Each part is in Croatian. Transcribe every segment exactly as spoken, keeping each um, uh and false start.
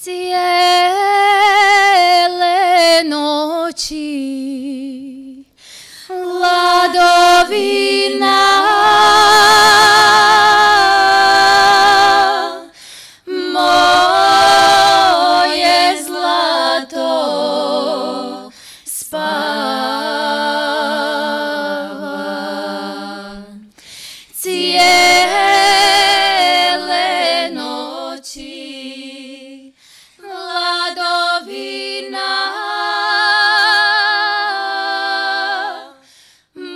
cijele noći, Ladovina moje zlato spava. Cijele noći Ladovina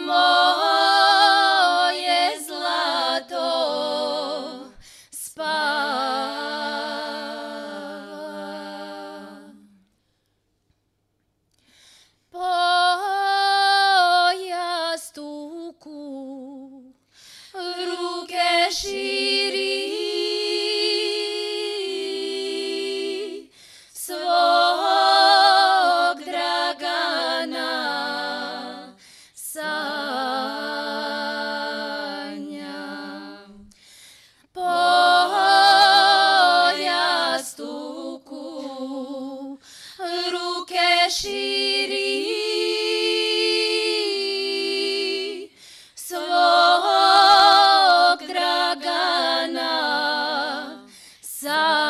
moje zlato spava. Pojas tuku, ruke širi, svog Dragana sanjam. Pojas tuku, ruke širi, svog Dragana sanjam.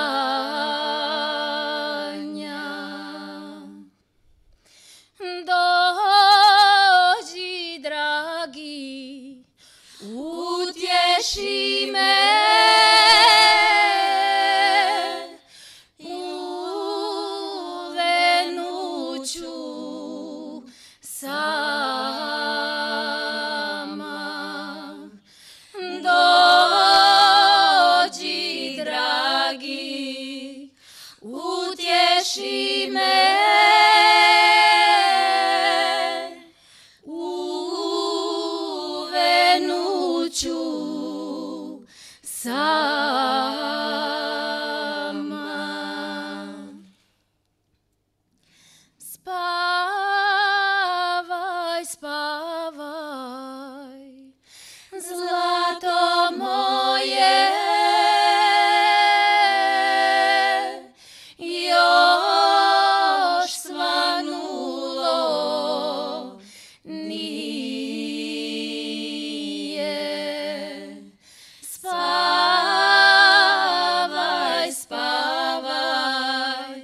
Dođi, dragi, utješi me, u venuću sama. Dođi, dragi, utješi me, u venuću sama. Spavaj, spavaj, zlato moje, još svanulo nije. Spavaj, spavaj,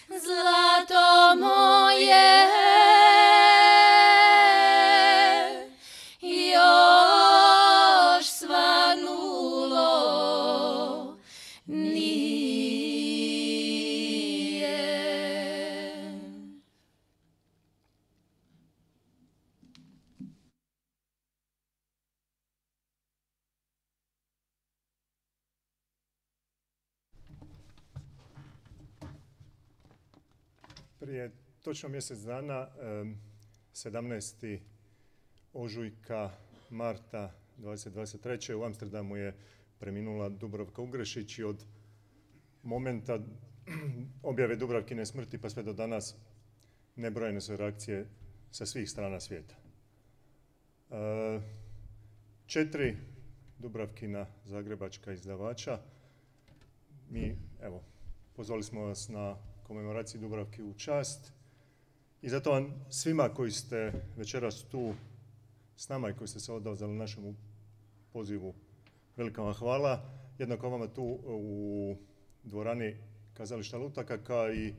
zlato moje, još svanulo nije. Prije točno mjesec dana, sedamnaestog ožujka marta dvadeset dvadeset treće u Amsterdamu je preminula Dubravka Ugrešić i od momenta objave Dubravkine smrti pa sve do danas nebrojene su reakcije sa svih strana svijeta. Četiri Dubravkina zagrebačka izdavača. Mi, evo, pozvali smo vas na komemoraciji Dubravki u čast i zato vam svima koji ste večeras tu s nama i koji ste se odazvali našemu pozivu, velika vam hvala. Jednako vama tu u dvorani Kazališta Lutaka, kao i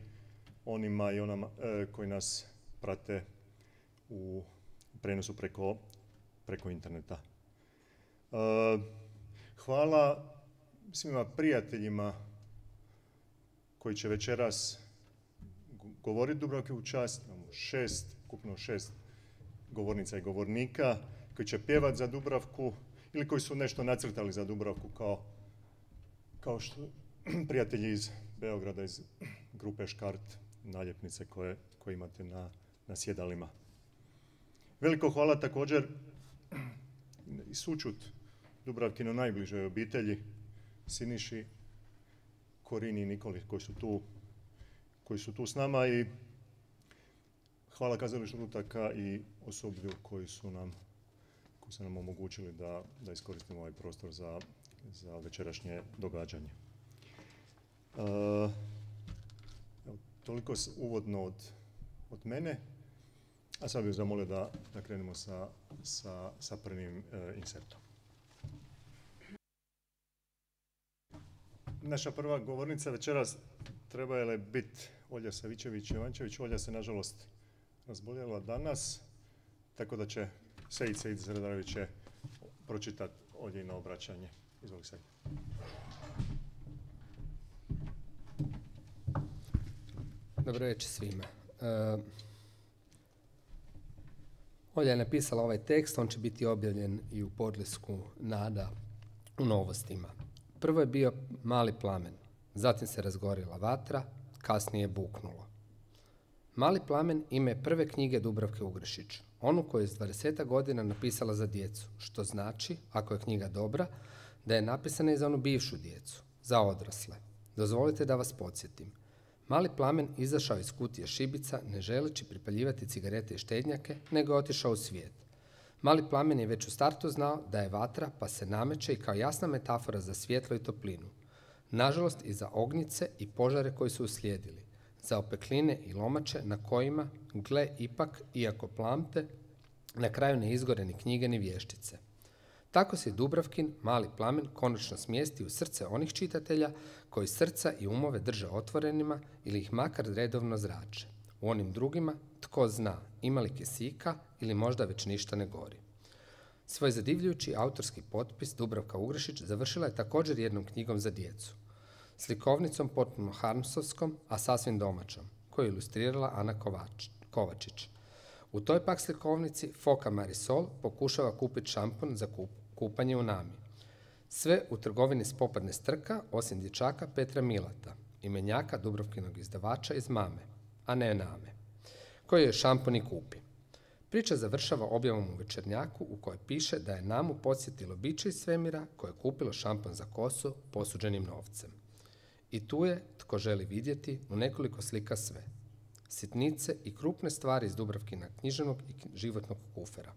onima i onama e, koji nas prate u prenosu preko, preko interneta. E, hvala svima prijateljima koji će večeras govoriti Dubravki u čast. Imamo šest, ukupno šest govornica i govornika koji će pjevati za Dubravku ili koji su nešto nacrtali za Dubravku kao, kao što prijatelji iz Beograda, iz grupe Škart, naljepnice koje, koje imate na, na sjedalima. Veliko hvala također i sućut Dubravkino najbližoj obitelji, Siniši, Korini i Nikoli koji su tu, koji su tu s nama, i hvala Kazalištu Lutaka i osoblju koji su nam, koji su nam omogućili da, da iskoristimo ovaj prostor za, za večerašnje događanje. Uh, toliko s- uvodno od, od mene. A sad bih zamolio da, da krenemo sa, sa, sa prvim e, insertom. Naša prva govornica večeras trebala je biti Olja Savičević-Jovančević. Olja se nažalost razboljela danas, tako da će Sejid Sejid Zredarević će pročitati Oljino obraćanje. Izvoli Sejid. Dobro večer svima. Uh, Olja je napisala ovaj tekst, on će biti objavljen i u podlisku Nada u Novostima. Prvo je bio Mali plamen, zatim se razgorila vatra, kasnije je buknulo. Mali plamen ime je prve knjige Dubravke Ugrešić, onu koju je s dvadeset godina napisala za djecu, što znači, ako je knjiga dobra, da je napisana i za onu bivšu djecu, za odrasle. Dozvolite da vas podsjetim. Mali plamen izašao iz kutije šibica, ne želeći pripaljivati cigarete i štednjake, nego je otišao u svijet. Mali plamen je već u startu znao da je vatra, pa se nameće i kao jasna metafora za svjetlo i toplinu. Nažalost i za ognjice i požare koji su uslijedili, za opekline i lomače na kojima, gle ipak, iako plamte, na kraju ne izgore ni knjige ni vještice. Tako se Dubravkin Mali plamen konačno smjesti u srce onih čitatelja koji srca i umove drže otvorenima ili ih makar redovno zrače. U onim drugima, tko zna, ima li kisika ili možda već ništa ne gori. Svoj zadivljujući autorski potpis Dubravka Ugrešić završila je također jednom knjigom za djecu. Slikovnicom potpuno harmsovskom, a sasvim domaćom, koju je ilustrirala Ana Kovač, Kovačić. U toj pak slikovnici Foka Marisol pokušava kupiti šampon za kup, kupanje u Nami. Sve u trgovini s popadne strka, osim dječaka Petra Milata, imenjaka Dubravkinog izdavača iz Mame, a ne Name, koji je šampon i kupi. Priča završava objavom u Večernjaku u kojoj piše da je Namu podsjetilo biće iz svemira koje je kupilo šampon za kosu posuđenim novcem. I tu je, tko želi vidjeti, u nekoliko slika sve. Sitnice i krupne stvari iz Dubravkina književnog i životnog kufera.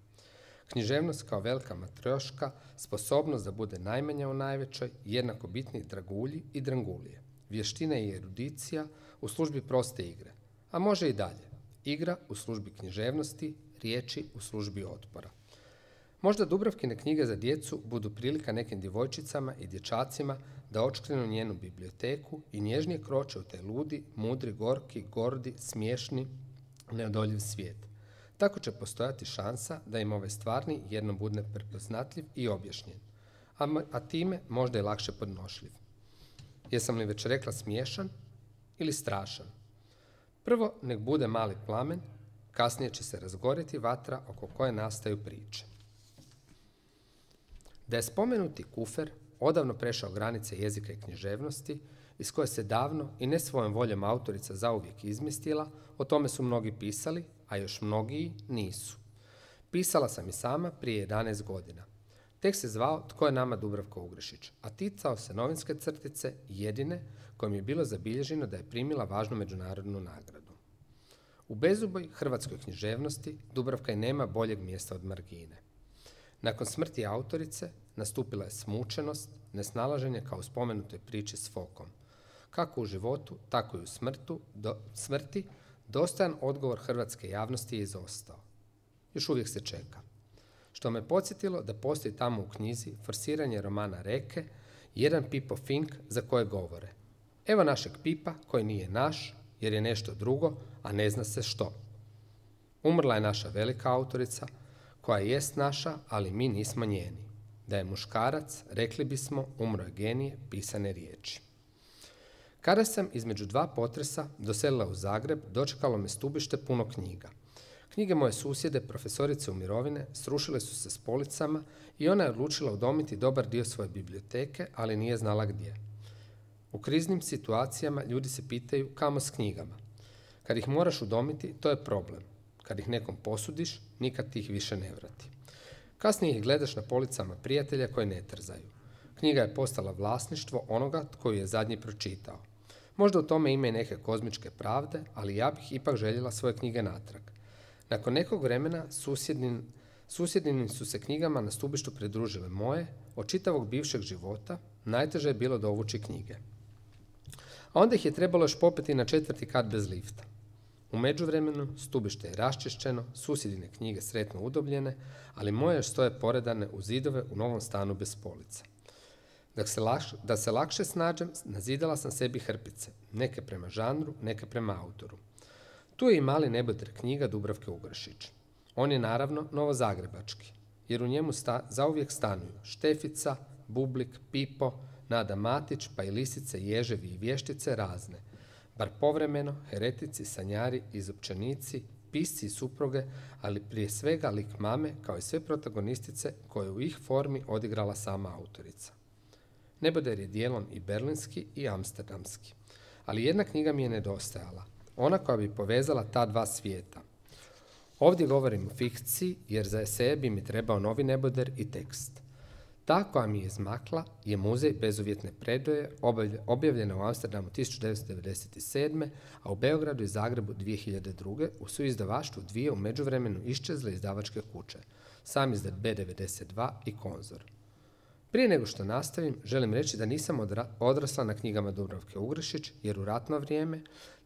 Književnost kao velika matrioška, sposobnost da bude najmanja u najvećoj, jednako bitni dragulji i drangulije. Vještina i erudicija u službi proste igre, a može i dalje. Igra u službi književnosti, riječi u službi otpora. Možda Dubravkine knjige za djecu budu prilika nekim djevojčicama i dječacima da očkrenu njenu biblioteku i nježnije kroče u taj ludi, mudri, gorki, gordi, smiješni, neodoljiv svijet. Tako će postojati šansa da im ovaj stvarni jednom bude prepoznatljiv i objašnjen, a, a time možda i lakše podnošljiv. Jesam li već rekla smiješan ili strašan? Prvo nek bude mali plamen, kasnije će se razgorjeti vatra oko koje nastaju priče. Da je spomenuti kufer odavno prešao granice jezika i književnosti, iz koje se davno i ne svojom voljom autorica zauvijek izmjestila, o tome su mnogi pisali, a još mnogiji nisu. Pisala sam i sama prije jedanaest godina. Tekst se zvao Tko je nama Dubravka Ugrešić, a ticao se novinske crtice, jedine kojom je bilo zabilježeno da je primila važnu međunarodnu nagradu. U bezuboj hrvatskoj književnosti Dubravka i nema boljeg mjesta od margine. Nakon smrti autorice nastupila je smučenost, nesnalaženje kao u spomenutoj priči s Fokom. Kako u životu, tako i u smrtu, do, smrti, dostojan odgovor hrvatske javnosti je izostao. Još uvijek se čeka. Što me podsjetilo da postoji tamo u knjizi forsiranje romana Reke, jedan Pipo Fink za koje govore. Evo našeg Pipa koji nije naš, jer je nešto drugo, a ne zna se što. Umrla je naša velika autorica, koja jest naša, ali mi nismo njeni. Da je muškarac, rekli bismo, umro je genije pisane riječi. Kada sam između dva potresa doselila u Zagreb, dočekalo me stubište puno knjiga. Knjige moje susjede, profesorice u mirovine, srušile su se s policama i ona je odlučila udomiti dobar dio svoje biblioteke, ali nije znala gdje. U kriznim situacijama ljudi se pitaju kamo s knjigama. Kad ih moraš udomiti, to je problem. Kad ih nekom posudiš, nikad ti ih više ne vrati. Kasnije ih gledaš na policama prijatelja koji ne trzaju. Knjiga je postala vlasništvo onoga koju je zadnji pročitao. Možda u tome ima i neke kozmičke pravde, ali ja bih ipak željela svoje knjige natrag. Nakon nekog vremena susjednin, susjednim su se knjigama na stubištu pridružile moje, od čitavog bivšeg života najteže je bilo dovući knjige. A onda ih je trebalo još popeti na četvrti kat bez lifta. U međuvremenu stubište je raščišćeno, susjedine knjige sretno udobljene, ali moje još stoje poredane u zidove u novom stanu bez polica. Da se, lakš, da se lakše snađem, nazidala sam sebi hrpice, neke prema žanru, neke prema autoru. Tu je i mali neboder knjiga Dubravke Ugrešić. On je naravno novozagrebački, jer u njemu sta, zauvijek stanuju Štefica, Bublik, Pipo, Nada Matić, pa i lisice, ježevi i vještice razne, bar povremeno heretici, sanjari, izopćenici, pisci i supruge, ali prije svega lik mame kao i sve protagonistice koje u ih formi odigrala sama autorica. Neboder je dijelom i berlinski i amsterdamski, ali jedna knjiga mi je nedostajala, ona koja bi povezala ta dva svijeta. Ovdje govorim o fikciji jer za eseje bi mi trebao novi neboder i tekst. Ta koja mi je izmakla je Muzej bezuvjetne predaje, objavljena u Amsterdamu tisuću devetsto devedeset sedme. a u Beogradu i Zagrebu dvije hiljade druge. u suizdavaštvu dvije u međuvremenu iščezle izdavačke kuće, Sam izdat be devedeset dva i Konzor. Prije nego što nastavim, želim reći da nisam odra- odrasla na knjigama Dubravke Ugrešić, jer u ratno vrijeme,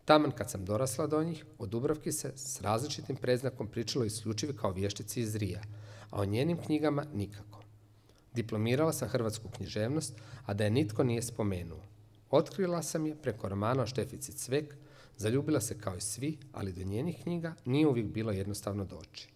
taman kad sam dorasla do njih, o Dubravki se s različitim predznakom pričalo isključivo kao vještici iz Rija, a o njenim knjigama nikako. Diplomirala sam hrvatsku književnost, a da je nitko nije spomenuo. Otkrila sam je preko romana o Štefici Cvek, zaljubila se kao i svi, ali do njenih knjiga nije uvijek bilo jednostavno doći.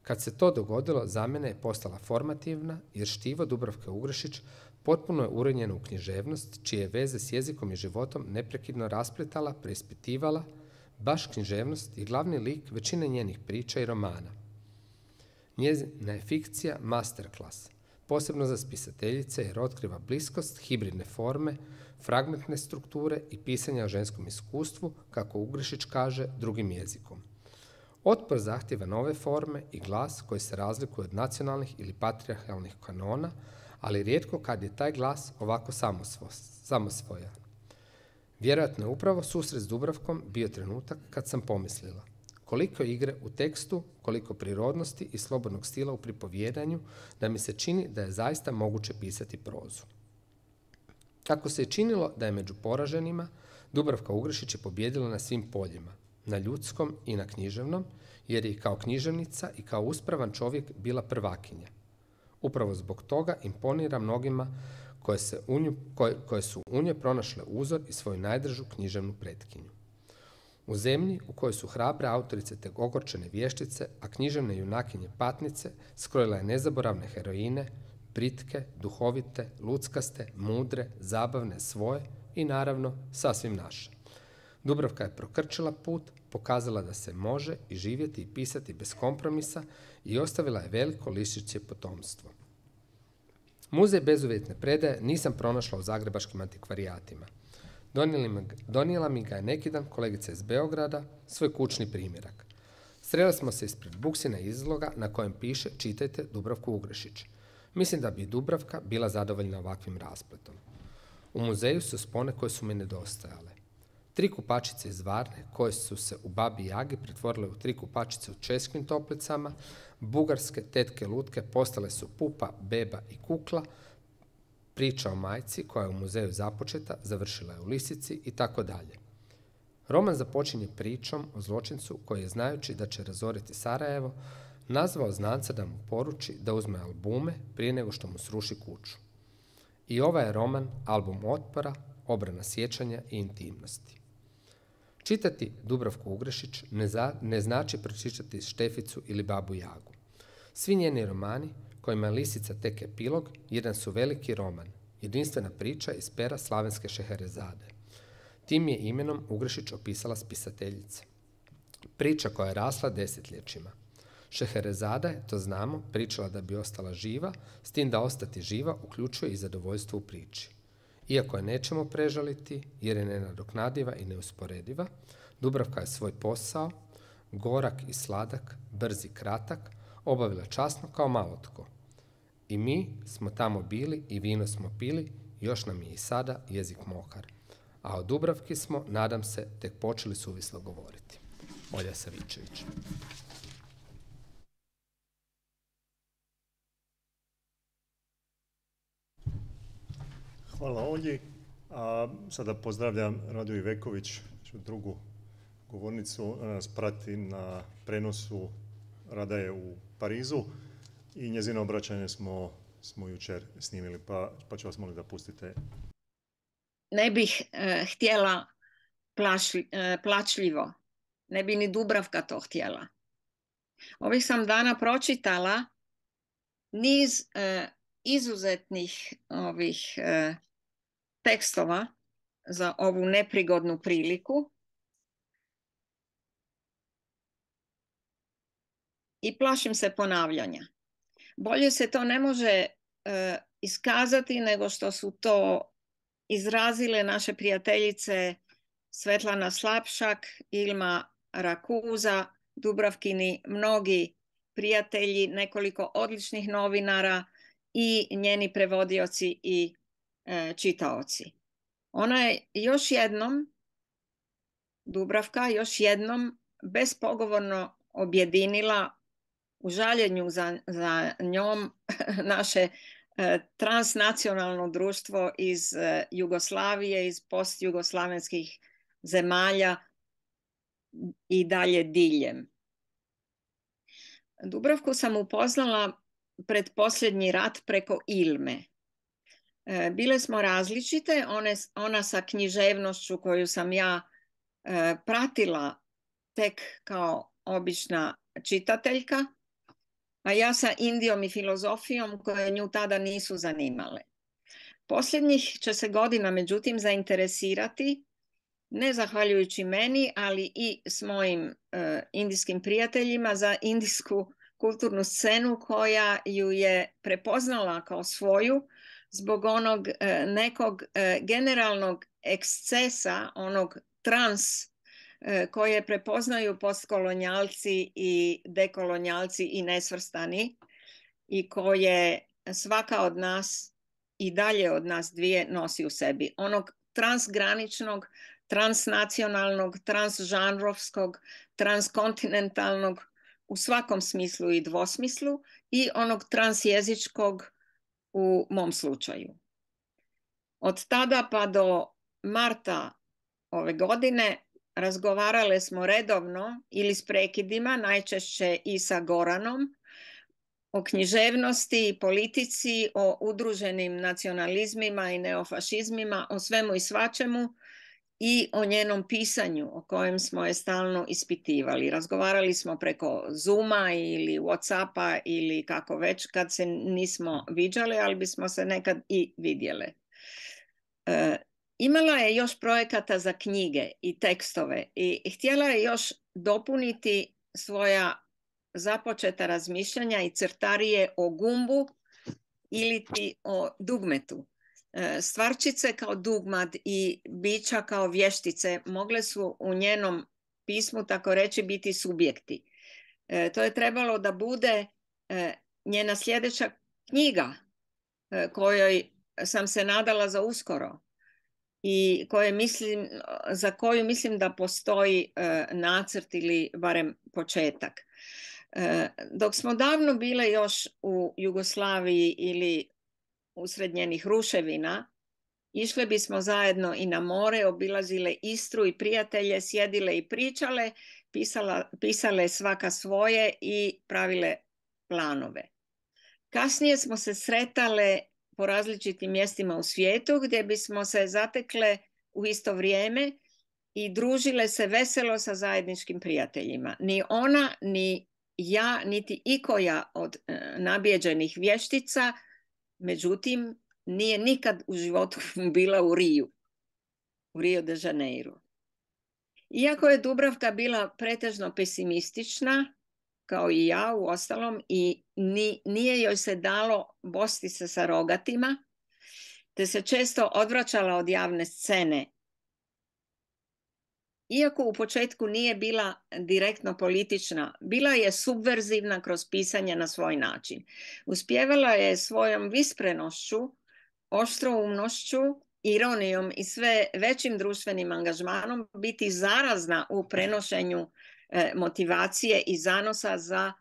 Kad se to dogodilo, za mene je postala formativna, jer štivo Dubravke Ugrešić potpuno je urenjeno u književnost, čije veze s jezikom i životom neprekidno raspletala, preispitivala, baš književnost i glavni lik većine njenih priča i romana. Njezina je fikcija masterclass, posebno za spisateljice jer otkriva bliskost, hibridne forme, fragmentne strukture i pisanja o ženskom iskustvu, kako Ugrešić kaže, drugim jezikom. Otpor zahtjeva nove forme i glas koji se razlikuje od nacionalnih ili patrijarhalnih kanona, ali rijetko kad je taj glas ovako samosvojan. Vjerojatno je upravo susret s Dubravkom bio trenutak kad sam pomislila koliko igre u tekstu, koliko prirodnosti i slobodnog stila u pripovjedanju, da mi se čini da je zaista moguće pisati prozu. Kako se je činilo da je među poraženima, Dubravka Ugrešić je pobijedila na svim poljima, na ljudskom i na književnom, jer je i kao književnica i kao uspravan čovjek bila prvakinja. Upravo zbog toga imponira mnogima koje, se u nju, koje, koje su u njoj pronašle uzor i svoju najdržu književnu pretkinju. U zemlji u kojoj su hrabre autorice tek ogorčene vještice, a književne junakinje patnice, skrojila je nezaboravne heroine, britke, duhovite, luckaste, mudre, zabavne, svoje i naravno sasvim naše. Dubravka je prokrčila put, pokazala da se može i živjeti i pisati bez kompromisa i ostavila je veliko lišće potomstvo. Muzej bezuvjetne predaje nisam pronašla u zagrebačkim antikvarijatima. Donijela mi ga je neki dan kolegica iz Beograda, svoj kućni primjerak. Sreli smo se ispred buksina izloga na kojem piše čitajte Dubravku Ugrešić. Mislim da bi Dubravka bila zadovoljna ovakvim raspletom. U muzeju su spone koje su mi nedostajale. Tri kupačice iz Varne, koje su se u Babi Jagi pretvorile u tri kupačice u Českim Toplicama, bugarske tetke lutke postale su Pupa, Beba i Kukla, priča o majci koja je u muzeju započeta, završila je u Lisici i tako dalje. Roman započinje pričom o zločincu koji je, znajući da će razoriti Sarajevo, nazvao znanca da mu poruči da uzme albume prije nego što mu sruši kuću. I ovaj je roman album otpora, obrana sjećanja i intimnosti. Čitati Dubravku Ugrešić ne, za, ne znači pročitati Šteficu ili Babu Jagu. Svi njeni romani, kojima je Lisica tek epilog, jedan su veliki roman, jedinstvena priča iz pera slavenske Šeherezade. Tim je imenom Ugrešić opisala spisateljice. Priča koja je rasla desetljećima. Šeherezada je, to znamo, pričala da bi ostala živa, s tim da ostati živa uključuje i zadovoljstvo u priči. Iako je nećemo prežaliti, jer je nenadoknadiva i neusporediva, Dubravka je svoj posao, gorak i sladak, brz i kratak, obavila časno kao malo tko. I mi smo tamo bili i vino smo pili, još nam je i sada jezik mokar. A o Dubravki smo, nadam se, tek počeli suvislo govoriti. Olja Savičević. Hvala Olji. A sada pozdravljam Radu Iveković, drugu govornicu. Ona nas prati na prenosu, Rada je u Parizu i njezino obraćanje smo, smo jučer snimili, pa, pa ću vas moliti da pustite. Ne bih eh, htjela plašli, eh, plačljivo, ne bi ni Dubravka to htjela. Ovih sam dana pročitala niz eh, izuzetnih ovih eh, tekstova za ovu neprigodnu priliku i plašim se ponavljanja. Bolje se to ne može eh, iskazati nego što su to izrazile naše prijateljice Svetlana Slapšak, Ilma Rakuza, Dubravkini mnogi prijatelji, nekoliko odličnih novinara i njeni prevodioci i e, čitaoci. Ona je još jednom, Dubravka, još jednom bespogovorno objedinila u žaljenju za, za njom naše e, transnacionalno društvo iz e, Jugoslavije, iz postjugoslavenskih zemalja i dalje diljem. Dubravku sam upoznala pred posljednji rat preko Ilme. E, bile smo različite, one, ona sa književnošću koju sam ja e, pratila tek kao obična čitateljka, a ja sa Indijom i filozofijom koje nju tada nisu zanimale. Posljednjih će se godina međutim zainteresirati, ne zahvaljujući meni, ali i s mojim uh, indijskim prijateljima, za indijsku kulturnu scenu koja ju je prepoznala kao svoju zbog onog uh, nekog uh, generalnog ekscesa, onog trans uh, koje prepoznaju postkolonijalci i dekolonijalci i nesvrstani i koje svaka od nas i dalje od nas dvije nosi u sebi. Onog transgraničnog, transnacionalnog, transžanrovskog, transkontinentalnog u svakom smislu i dvosmislu i onog transjezičkog u mom slučaju. Od tada pa do marta ove godine razgovarale smo redovno ili s prekidima, najčešće i sa Goranom, o književnosti i politici, o udruženim nacionalizmima i neofašizmima, o svemu i svačemu i o njenom pisanju o kojem smo je stalno ispitivali. Razgovarali smo preko Zooma ili Whatsappa ili kako već kad se nismo viđali, ali bismo se nekad i vidjele. E, imala je još projekata za knjige i tekstove i htjela je još dopuniti svoja započeta razmišljanja i crtarije o gumbu ili ti o dugmetu. Stvarčice kao dugmat i bića kao vještice mogle su u njenom pismu, tako reći, biti subjekti. To je trebalo da bude njena sljedeća knjiga kojoj sam se nadala za uskoro i koje mislim, za koju mislim da postoji nacrt ili barem početak. Dok smo davno bile još u Jugoslaviji ili usred njenih ruševina, išle bismo zajedno i na more, obilazile Istru i prijatelje, sjedile i pričale, pisala, pisale svaka svoje i pravile planove. Kasnije smo se sretale po različitim mjestima u svijetu gdje bismo se zatekle u isto vrijeme i družile se veselo sa zajedničkim prijateljima. Ni ona, ni ja, niti ikoja od e, nabijeđenih vještica, međutim, nije nikad u životu bila u Riju, u Rio de Janeiro. Iako je Dubravka bila pretežno pesimistična, kao i ja u ostalom, i ni, nije joj se dalo bosti se sa rogatima, te se često odvraćala od javne scene. Iako u početku nije bila direktno politična, bila je subverzivna kroz pisanje na svoj način. Uspjevala je svojom visprenošću, oštroumnošću, ironijom i sve većim društvenim angažmanom biti zarazna u prenošenju e, motivacije i zanosa za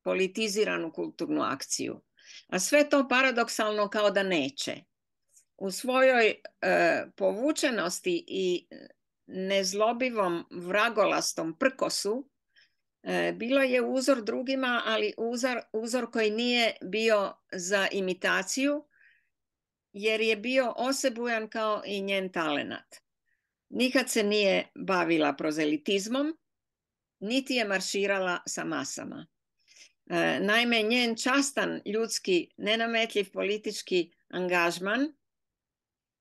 politiziranu kulturnu akciju. A sve to paradoksalno kao da neće. u svojoj e, povučenosti i nezlobivom vragolastom prkosu e, bilo je uzor drugima, ali uzor, uzor koji nije bio za imitaciju, jer je bio osebujan kao i njen talenat. Nikad se nije bavila prozelitizmom, niti je marširala sa masama. E, naime, njen častan, ljudski, nenametljiv politički angažman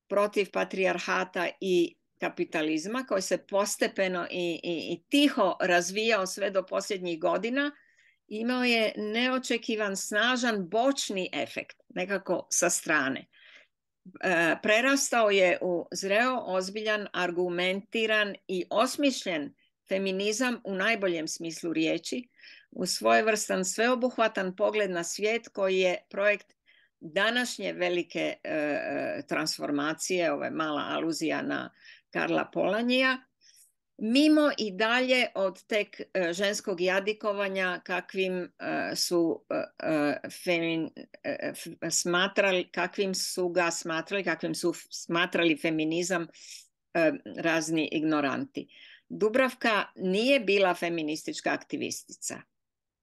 protiv patrijarhata i kapitalizma, koji se postepeno i, i, i tiho razvijao sve do posljednjih godina, imao je neočekivan, snažan bočni efekt, nekako sa strane. E, prerastao je u zreo, ozbiljan, argumentiran i osmišljen feminizam u najboljem smislu riječi, u svojevrstan sveobuhvatan pogled na svijet koji je projekt današnje velike e, transformacije, ovo je mala aluzija na Karla Polanija, mimo i dalje od tek e, ženskog jadikovanja kakvim e, su e, femin, e, smatrali, kakvim su ga smatrali, kakvim su smatrali feminizam e, razni ignoranti. Dubravka nije bila feministička aktivistica.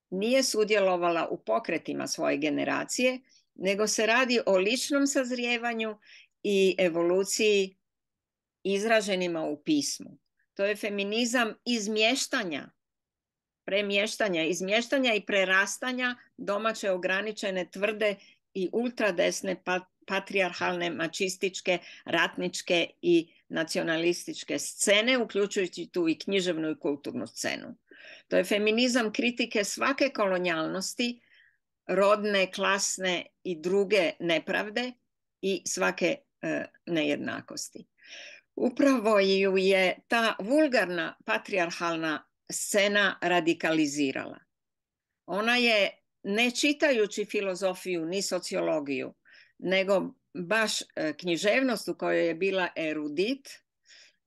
Nije sudjelovala u pokretima svoje generacije, nego se radi o ličnom sazrijevanju i evoluciji izraženima u pismu. To je feminizam izmještanja, premještanja, izmještanja i prerastanja domaće ograničene, tvrde i ultradesne patrijarhalne, mačističke, ratničke i nacionalističke scene, uključujući tu i književnu i kulturnu scenu. To je feminizam kritike svake kolonijalnosti, rodne, klasne i druge nepravde i svake e, nejednakosti. Upravo ju je ta vulgarna patrijarhalna scena radikalizirala. Ona je, ne čitajući filozofiju ni sociologiju, nego baš e, književnost u kojoj je bila erudit,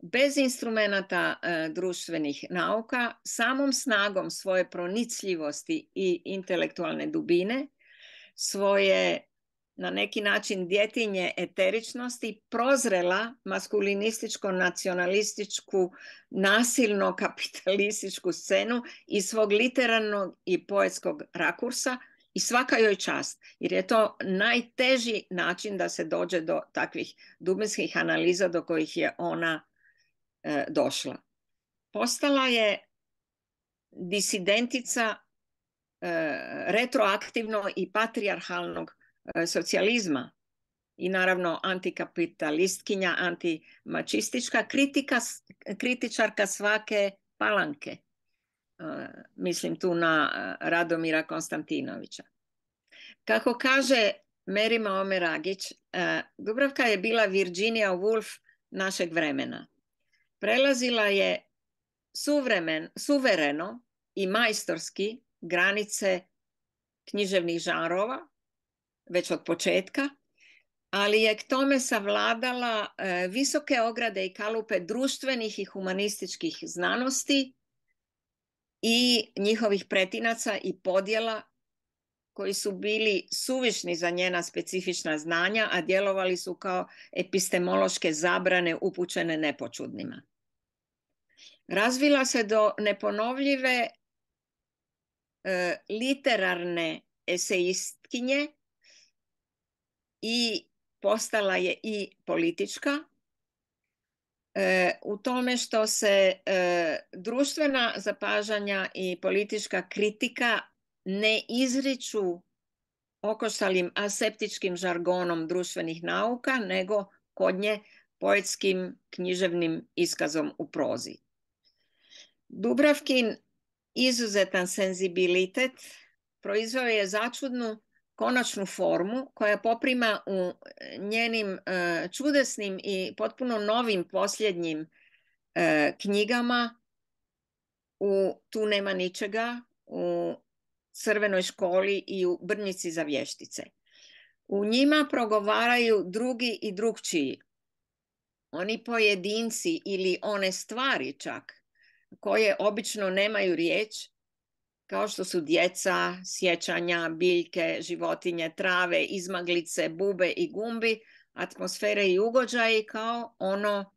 bez instrumenata e, društvenih nauka, samom snagom svoje pronicljivosti i intelektualne dubine, svoje na neki način djetinje eteričnosti, prozrela maskulinističko-nacionalističku, nasilno kapitalističku scenu iz svog literarnog i poetskog rakursa, i svaka joj čast, jer je to najteži način da se dođe do takvih dubinskih analiza do kojih je ona e, došla. Postala je disidentica e, retroaktivno i patrijarhalnog e, socijalizma i naravno antikapitalistkinja, antimačistička, kritika, kritičarka svake palanke. Mislim tu na Radomira Konstantinovića. Kako kaže Merima Omeragić, Dubravka je bila Virginia Woolf našeg vremena. Prelazila je suvremen, suvereno i majstorski granice književnih žanrova, već od početka, ali je k tome savladala visoke ograde i kalupe društvenih i humanističkih znanosti i njihovih pretinaca i podjela koji su bili suvišni za njena specifična znanja, a djelovali su kao epistemološke zabrane upućene nepočudnima. Razvila se do neponovljive e, literarne esejistkinje i postala je i politička, E, u tome što se e, društvena zapažanja i politička kritika ne izriču okoštalim aseptičkim žargonom društvenih nauka, nego kod nje poetskim književnim iskazom u prozi. Dubravkin izuzetan senzibilitet proizveo je začudnu konačnu formu koja poprima u njenim uh, čudesnim i potpuno novim posljednjim uh, knjigama u Tu nema ničega, u Crvenoj školi i u Brnjici za vještice. U njima progovaraju drugi i drugčiji. Oni pojedinci ili one stvari čak koje obično nemaju riječ, kao što su djeca, sjećanja, biljke, životinje, trave, izmaglice, bube i gumbi, atmosfere i ugođaji kao ono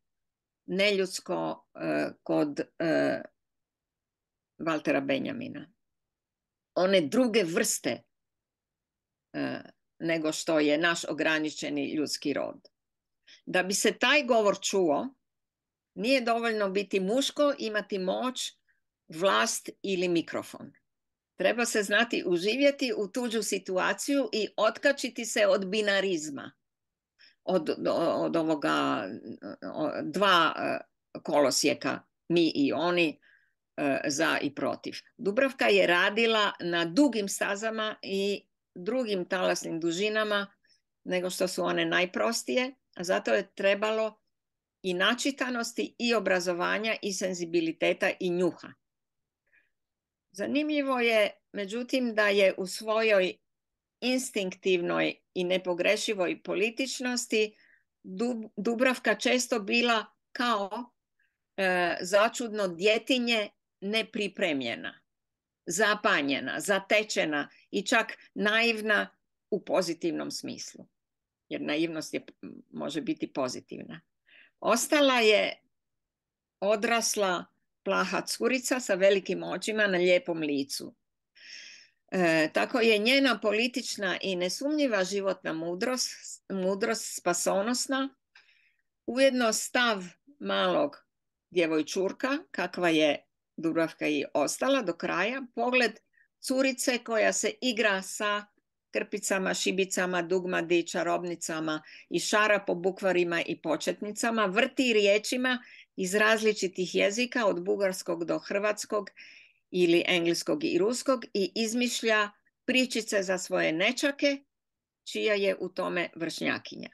neljudsko uh, kod uh, Valtera Benjamina. One druge vrste uh, nego što je naš ograničeni ljudski rod. Da bi se taj govor čuo, nije dovoljno biti muško, imati moć, vlast ili mikrofon. Treba se znati uživjeti u tuđu situaciju i otkačiti se od binarizma. Od, od ovoga dva kolosijeka, mi i oni, za i protiv. Dubravka je radila na dugim stazama i drugim talasnim dužinama nego što su one najprostije, a zato je trebalo i načitanosti i obrazovanja i senzibiliteta i njuha. Zanimljivo je, međutim, da je u svojoj instinktivnoj i nepogrešivoj političnosti Dubravka često bila kao e, začudno djetinje nepripremljena, zapanjena, zatečena i čak naivna u pozitivnom smislu. Jer naivnost je, može biti pozitivna. Ostala je odrasla plaha curica sa velikim očima na lijepom licu. E, tako je njena politična i nesumnjiva životna mudrost, mudrost spasonosna, ujedno stav malog djevojčurka, kakva je Dubravka i ostala do kraja, pogled curice koja se igra sa krpicama, šibicama, dugmadi, čarobnicama i šara po bukvarima i početnicama, vrti riječima iz različitih jezika od bugarskog do hrvatskog ili engleskog i ruskog i izmišlja pričice za svoje nečake, čija je u tome vršnjakinja.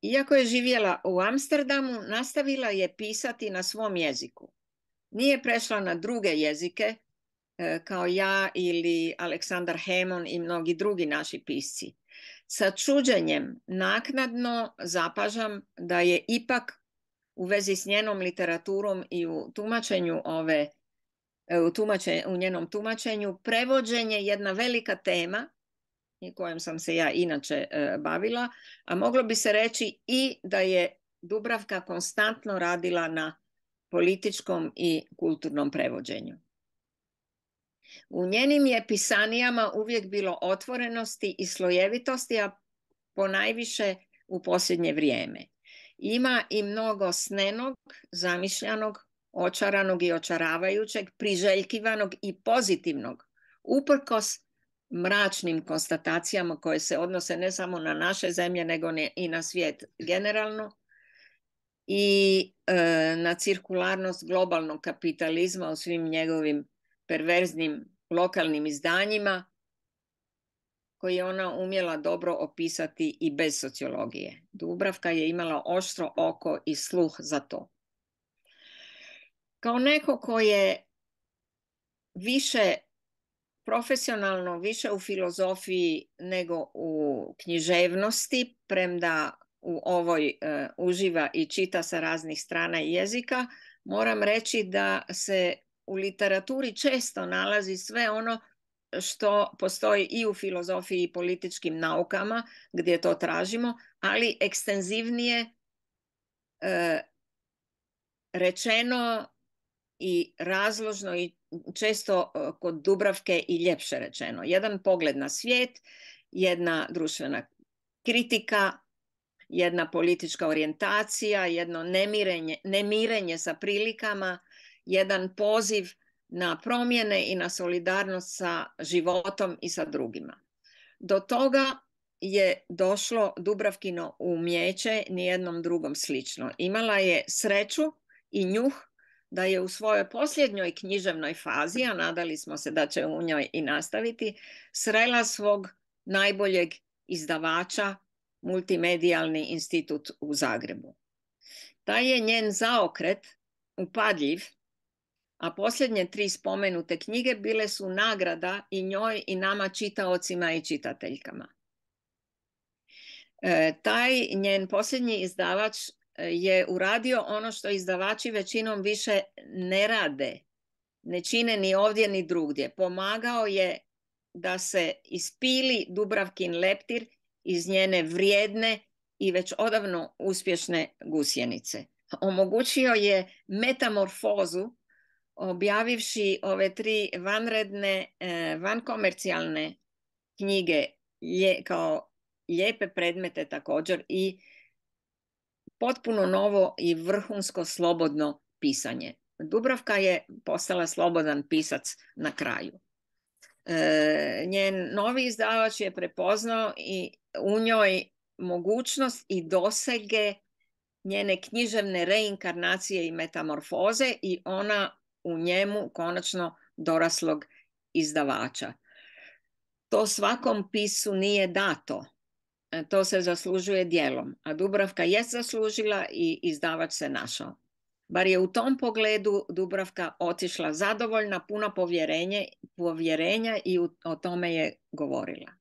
Iako je živjela u Amsterdamu, nastavila je pisati na svom jeziku. Nije prešla na druge jezike, kao ja ili Aleksandar Hemon i mnogi drugi naši pisci. Sa čuđenjem naknadno zapažam da je ipak u vezi s njenom literaturom i u tumačenju ove, u, tumačenju, u njenom tumačenju prevođenje jedna velika tema i kojom sam se ja inače e, bavila, a moglo bi se reći i da je Dubravka konstantno radila na političkom i kulturnom prevođenju. U njenim je pisanijama uvijek bilo otvorenosti i slojevitosti, a ponajviše u posljednje vrijeme. Ima i mnogo snenog, zamišljanog, očaranog i očaravajućeg, priželjkivanog i pozitivnog, uprkos mračnim konstatacijama koje se odnose ne samo na naše zemlje, nego i na svijet generalno, i e, na cirkularnost globalnog kapitalizma u svim njegovim perverznim lokalnim izdanjima koje je ona umjela dobro opisati i bez sociologije. Dubravka je imala oštro oko i sluh za to. Kao neko ko je više profesionalno, više u filozofiji nego u književnosti, premda u ovoj uh, uživa i čita sa raznih strana i jezika, moram reći da se u literaturi često nalazi sve ono što postoji i u filozofiji i političkim naukama gdje to tražimo, ali ekstenzivnije e, rečeno i razložno i često kod Dubravke i ljepše rečeno. Jedan pogled na svijet, jedna društvena kritika, jedna politička orijentacija, jedno nemirenje, nemirenje sa prilikama, jedan poziv na promjene i na solidarnost sa životom i sa drugima. Do toga je došlo Dubravkino umijeće nijednom drugom slično. Imala je sreću i njuh da je u svojoj posljednjoj književnoj fazi, a nadali smo se da će u njoj i nastaviti, srela svog najboljeg izdavača, Multimedijalni institut u Zagrebu. Taj je njen zaokret upadljiv, a posljednje tri spomenute knjige bile su nagrada i njoj i nama čitaocima i čitateljkama. E, taj njen posljednji izdavač je uradio ono što izdavači većinom više ne rade, ne čine ni ovdje ni drugdje. Pomagao je da se ispili Dubravkin leptir iz njene vrijedne i već odavno uspješne gusjenice. Omogućio je metamorfozu objavivši ove tri vanredne, vankomercijalne knjige kao lijepe predmete također i potpuno novo i vrhunsko slobodno pisanje. Dubravka je postala slobodan pisac na kraju. E, njen novi izdavač je prepoznao i u njoj mogućnost i dosege njene književne reinkarnacije i metamorfoze i ona u njemu konačno doraslog izdavača. To svakom pisu nije dato. To se zaslužuje djelom, a Dubravka je zaslužila i izdavač se našao. Bar je u tom pogledu Dubravka otišla zadovoljna, puna povjerenje, povjerenja i u, o tome je govorila.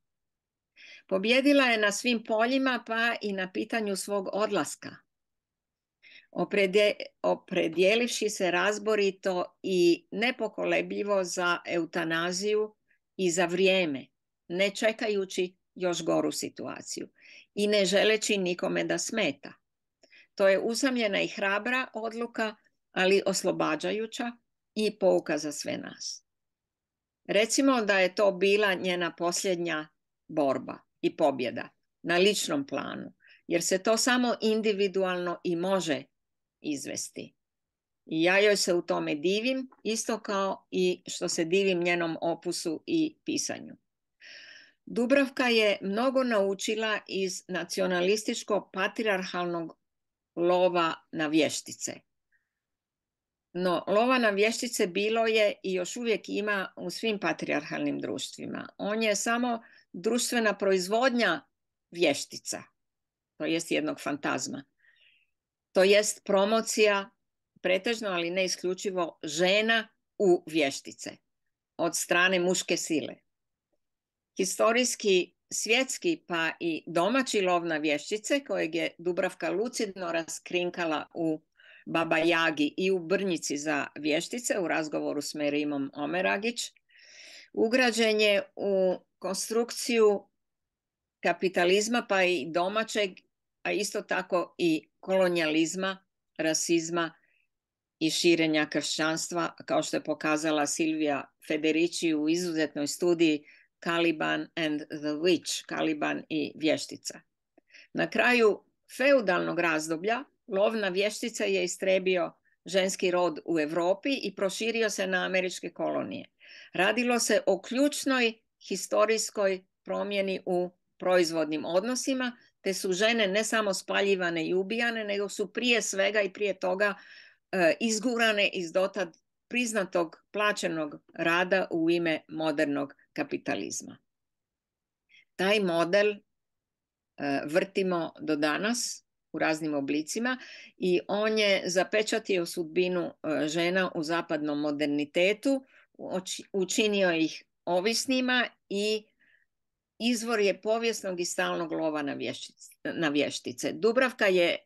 Pobjedila je na svim poljima, pa i na pitanju svog odlaska. Opredje, opredjelivši se razborito i nepokolebljivo za eutanaziju i za vrijeme, ne čekajući još goru situaciju i ne želeći nikome da smeta. To je usamljena i hrabra odluka, ali oslobađajuća i pouka za sve nas. Recimo da je to bila njena posljednja borba i pobjeda na ličnom planu, jer se to samo individualno i može izvesti. I ja joj se u tome divim, isto kao i što se divim njenom opusu i pisanju. Dubravka je mnogo naučila iz nacionalističko-patrijarhalnog lova na vještice. No, lova na vještice bilo je i još uvijek ima u svim patrijarhalnim društvima. On je samo društvena proizvodnja vještica, to jest jednog fantazma. To jest promocija, pretežno, ali ne isključivo, žena u vještice od strane muške sile. Historijski, svjetski pa i domaći lov na vještice, kojeg je Dubravka lucidno raskrinkala u Baba Jagi i u Brnjici za vještice u razgovoru s Merimom Omeragić, ugrađen je u konstrukciju kapitalizma pa i domaćeg, a isto tako i kolonijalizma, rasizma i širenja kršćanstva, kao što je pokazala Silvija Federici u izuzetnoj studiji Caliban and the Witch, Caliban i vještica. Na kraju feudalnog razdoblja lov na vještice je istrebio ženski rod u Europi i proširio se na američke kolonije. Radilo se o ključnoj historijskoj promjeni u proizvodnim odnosima, te su žene ne samo spaljivane i ubijane, nego su prije svega i prije toga e, izgurane iz dotad priznatog plaćenog rada u ime modernog kapitalizma. Taj model e, vrtimo do danas u raznim oblicima i on je zapečatio sudbinu e, žena u zapadnom modernitetu, učinio ih ovisnima i izvor je povijesnog i stalnog lova na vještice. Na vještice. Dubravka je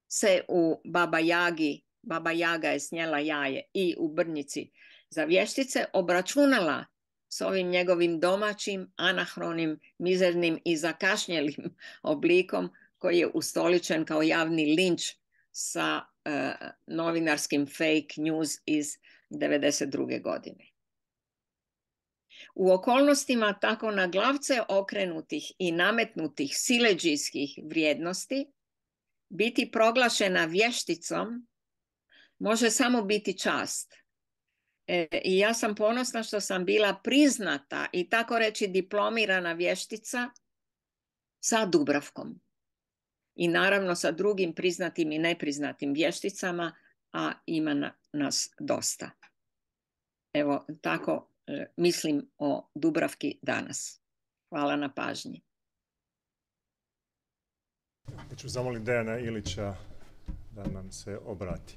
se u Baba Jagi, Baba Jaga je snijela jaje i u Brnjici za vještice obračunala s ovim njegovim domaćim, anahronim, mizernim i zakašnjelim oblikom koji je ustoličen kao javni linč sa uh, novinarskim fake news iz devedeset druge godine. U okolnostima tako na glavce okrenutih i nametnutih siledžijskih vrijednosti biti proglašena vješticom može samo biti čast. E, I ja sam ponosna što sam bila priznata i tako reći diplomirana vještica sa Dubravkom. I naravno sa drugim priznatim i nepriznatim vješticama, a ima na, nas dosta. Evo, tako mislim o Dubravki danas. Hvala na pažnji. Ja ću zamoliti Dejana Ilića da nam se obrati.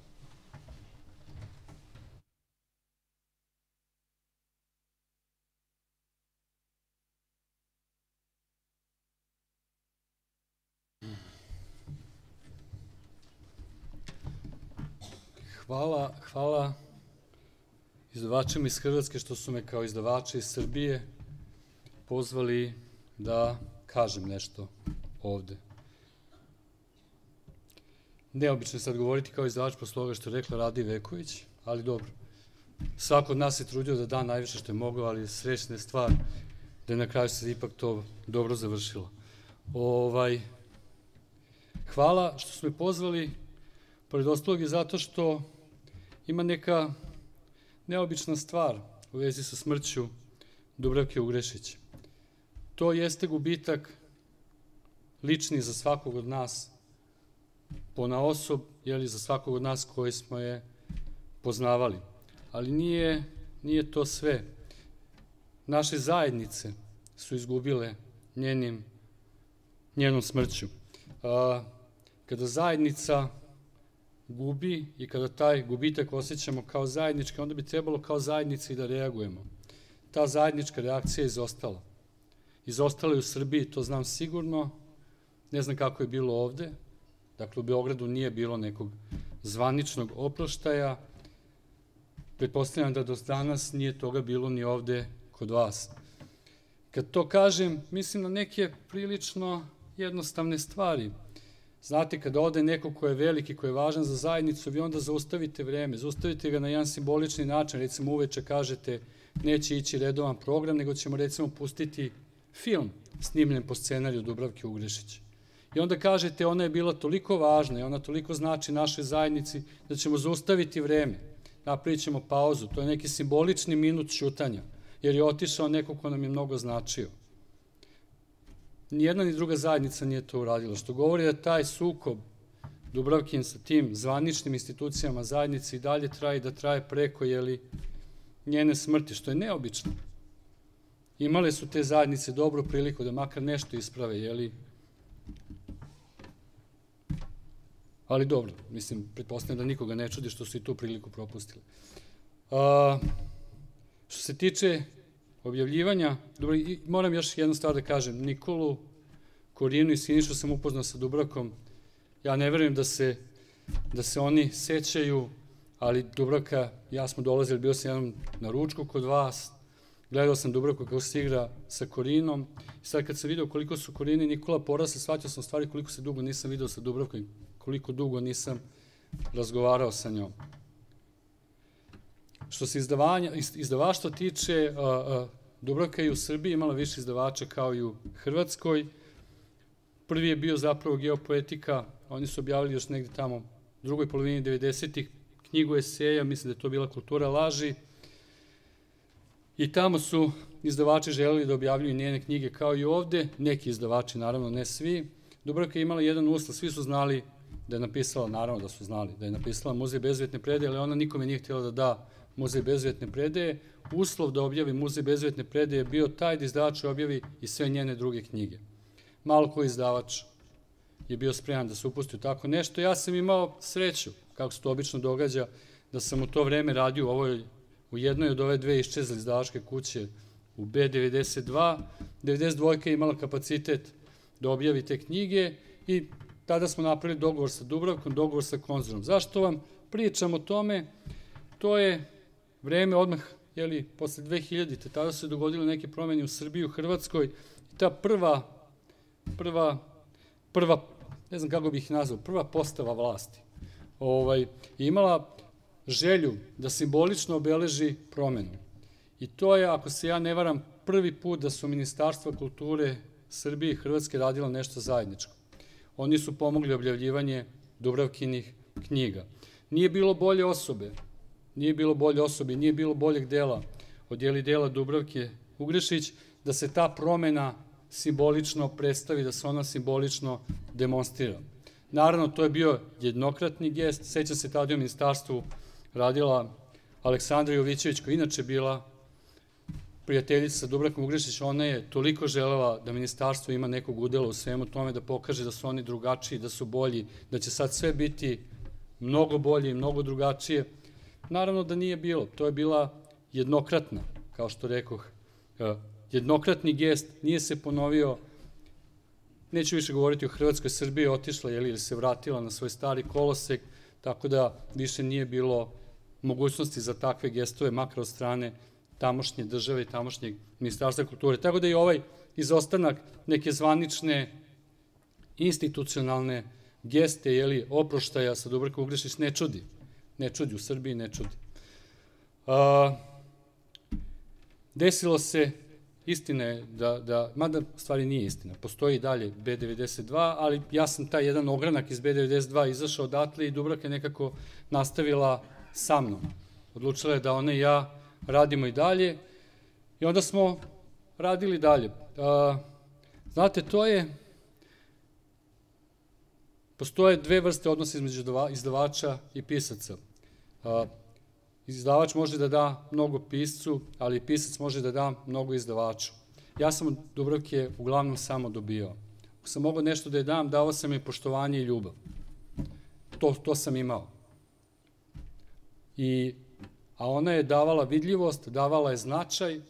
Hvala, hvala izdavačima iz Hrvatske što su me kao izdavača iz Srbije pozvali da kažem nešto ovde. neobično je sad govoriti kao izdavač posle toga što je rekla Rada Iveković, ali dobro. Svako od nas je trudio da da najviše što je mogao, ali srećna je stvar da je na kraju se ipak to dobro završilo. Ovaj, hvala što su me pozvali, pored ostalog je zato što ima neka neobična stvar u vezi sa smrću Dubravke Ugrešić. To jeste gubitak lični za svakog od nas, ponaosob, jeli za svakog od nas koji smo je poznavali. Ali nije, nije to sve. Naše zajednice su izgubile njenim, njenom smrću. A, kada zajednica gubi i kada taj gubitak osjećamo kao zajednički, onda bi trebalo kao zajednici da reagujemo. Ta zajednička reakcija je izostala. Izostala je u Srbiji, to znam sigurno, ne znam kako je bilo ovde. Dakle, u Beogradu nije bilo nekog zvaničnog oproštaja. Pretpostavljam da do danas nije toga bilo ni ovde kod vas. Kad to kažem, mislim na neke prilično jednostavne stvari. Znate, kada ode neko ko je veliki, ko je važan za zajednicu, vi onda zaustavite vreme, zaustavite ga na jedan simbolični način, recimo uveče kažete neće ići redovan program, nego ćemo recimo pustiti film snimljen po scenariju Dubravke Ugrešić. I onda kažete ona je bila toliko važna i ona toliko znači našoj zajednici da ćemo zaustaviti vreme, napravit ćemo pauzu, to je neki simbolični minut ćutanja, jer je otišao neko ko nam je mnogo značio. Nijedna ni druga zajednica nije to uradila, što govori da taj sukob Dubravkin sa tim zvaničnim institucijama zajednice i dalje traje, da traje preko jeli, njene smrti, što je neobično. Imale su te zajednice dobru priliku da makar nešto isprave, jeli? Ali dobro, mislim, pretpostavljam da nikoga ne čudi što su i tu priliku propustili. A, što se tiče objavljivanja, dobro, i moram još jednu stvar da kažem, Nikolu, Korinu i Sinišu sam upoznao sa Dubravkom, ja ne verujem da se, da se oni sećaju, ali Dubravka, ja smo dolazili, bio sam jednom na ručku kod vas, gledao sam Dubravku kako se igra sa Korinom i sad kad sam vidio koliko su Korina i Nikola porasli, shvatio sam stvari koliko se dugo nisam vidio sa Dubravkom, koliko dugo nisam razgovarao sa njom. Što se izdavaštva tiče, Dubravka je u Srbiji imala više izdavača kao i u Hrvatskoj. Prvi je bio zapravo Geopoetika, oni su objavili još negde tamo u drugoj polovini devedesetih knjigu eseja, mislim da je to bila Kultura laži. I tamo su izdavači želeli da objavljuju njene knjige kao i ovde, neki izdavači, naravno ne svi. Dubravka je imala jedan uslov, svi su znali da je napisala, naravno da su znali, da je napisala Muzej bezvetne predaje, ali ona nikome nije htjela da da Muzej bezvetne predaje. Uslov da objavi Muzej bezvetne predaje je bio taj da izdavač objavi i sve njene druge knjige. Malo koji izdavač je bio spreman da se upusti u tako nešto. Ja sam imao sreću, kako se to obično događa, da sam u to vreme radio u, ovoj, u jednoj od ove dve iščezle izdavačke kuće u B devedeset dva. devedeset dva je imala kapacitet da objavi te knjige i tada smo napravili dogovor sa Dubravkom, dogovor sa Konzumom. Zašto vam pričam o tome? To je vreme odmah, jeli, posle dve hiljadite. Tada su se dogodile neke promene u Srbiji, u Hrvatskoj. I ta prva, prva, prva, ne znam kako bih ih nazvao, prva postava vlasti ovaj, imala želju da simbolično obeleži promenu. I to je, ako se ja ne varam, prvi put da su Ministarstva kulture Srbije i Hrvatske radila nešto zajedničko. Oni su pomogli objavljivanje Dubravkinih knjiga. Nije bilo bolje osobe, nije bilo bolje osobe, nije bilo boljeg dela od jeli dela Dubravke Ugrešić, da se ta promena simbolično predstavi, da se ona simbolično demonstrira. Naravno, to je bio jednokratni gest, sećam se tada u ministarstvu radila Aleksandra Jovićević, koja inače bila prijateljica sa Dubravkom Ugrešić, ona je toliko želela da ministarstvo ima nekog udela u svemu tome, da pokaže da su oni drugačiji, da su bolji, da će sad sve biti mnogo bolje i mnogo drugačije. Naravno da nije bilo, to je bila jednokratna, kao što rekoh, jednokratni gest, nije se ponovio, neću više govoriti o Hrvatskoj, Srbiji je otišla ili se vratila na svoj stari kolosek, tako da više nije bilo mogućnosti za takve gestove, makar od strane tamošnje države i tamošnjeg ministarstva kulture. Tako da i ovaj izostanak neke zvanične institucionalne geste, jeli, oproštaja sa Dubravkom Ugrešić ne čudi. Ne čudi, u Srbiji ne čudi. A, desilo se, istina je da, da, mada stvari nije istina, postoji i dalje B devedeset dva, ali ja sam taj jedan ogranak iz B devedeset dva izašao odatle i Dubravka je nekako nastavila sa mnom. Odlučila je da ona i ja radimo i dalje i onda smo radili dalje. A, znate, to je, postoje dve vrste odnosa između izdavača i pisaca. A, izdavač može da da mnogo piscu, ali pisac može da da mnogo izdavaču. Ja sam od Dubravke uglavnom samo dobio. Ako sam mogao nešto da je dam, dao sam je poštovanje i ljubav. To, to sam imao. I, a ona je davala vidljivost, davala je značaj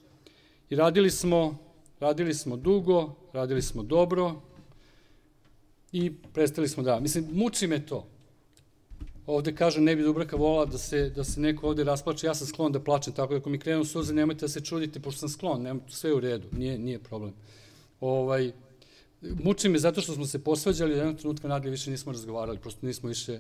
i radili smo, radili smo dugo, radili smo dobro i prestali smo da. Mislim, muči me to. Ovde kažem, ne bi Dubravka volala da se, da se neko ovde rasplače, ja sam sklon da plačem, tako da ako mi krenu suze, nemojte da se čudite, pošto sam sklon, nemojte, sve je u redu, nije, nije problem. Ovaj, muči me zato što smo se posvađali, da jednog trenutka nadalje više nismo razgovarali, prosto nismo više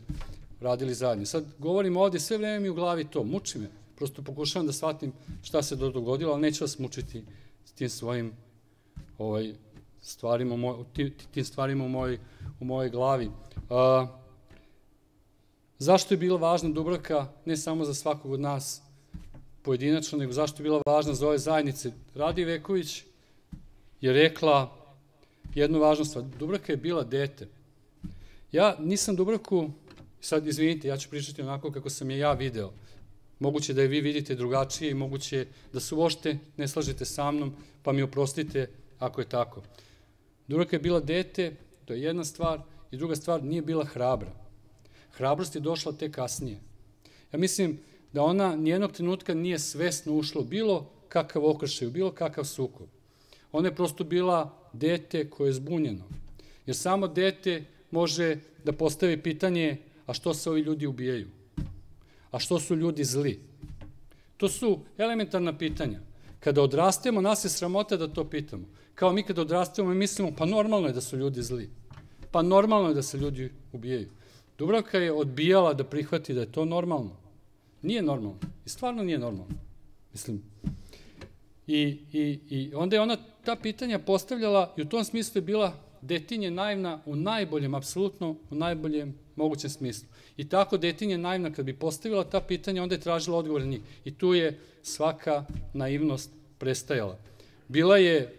radili zajedno. Sad govorim ovde, sve vreme mi u glavi to, muči me, prosto pokušavam da shvatim šta se dogodilo, ali neću vas mučiti s tim svojim ovaj, stvarima, moj, tim stvarima u mojoj, u mojoj glavi. A, Zašto je bila važna Dubravka, ne samo za svakog od nas pojedinačno, nego zašto je bila važna za ove zajednice? Radi Veković je rekla jednu važnu stvar. Dubravka je bila dete. Ja nisam Dubravku, sad izvinite, ja ću pričati onako kako sam je ja video. Moguće da je vi vidite drugačije i moguće da se uopšte ne slažete sa mnom, pa mi oprostite ako je tako. Dubravka je bila dete, to je jedna stvar, i druga stvar, nije bila hrabra. Hrabrost je došla tek kasnije. Ja mislim da ona nijednog trenutka nije svesno ušla u bilo kakav okršaj, u bilo kakav sukob. Ona je prosto bila dete koje je zbunjeno. Jer samo dete može da postavi pitanje, a što se ovi ljudi ubijaju? A što su ljudi zli? To su elementarna pitanja. Kada odrastemo, nas je sramota da to pitamo. Kao mi kada odrastemo i mislimo, pa normalno je da su ljudi zli. Pa normalno je da se ljudi ubijaju. Dubravka je odbijala da prihvati da je to normalno. Nije normalno. I stvarno nije normalno. Mislim. I, i, i onda je ona ta pitanja postavljala i u tom smislu je bila detinje naivna u najboljem, apsolutno u najboljem mogućem smislu. I tako detinje naivna kad bi postavila ta pitanja, onda je tražila odgovor na njih. I tu je svaka naivnost prestajala. Bila je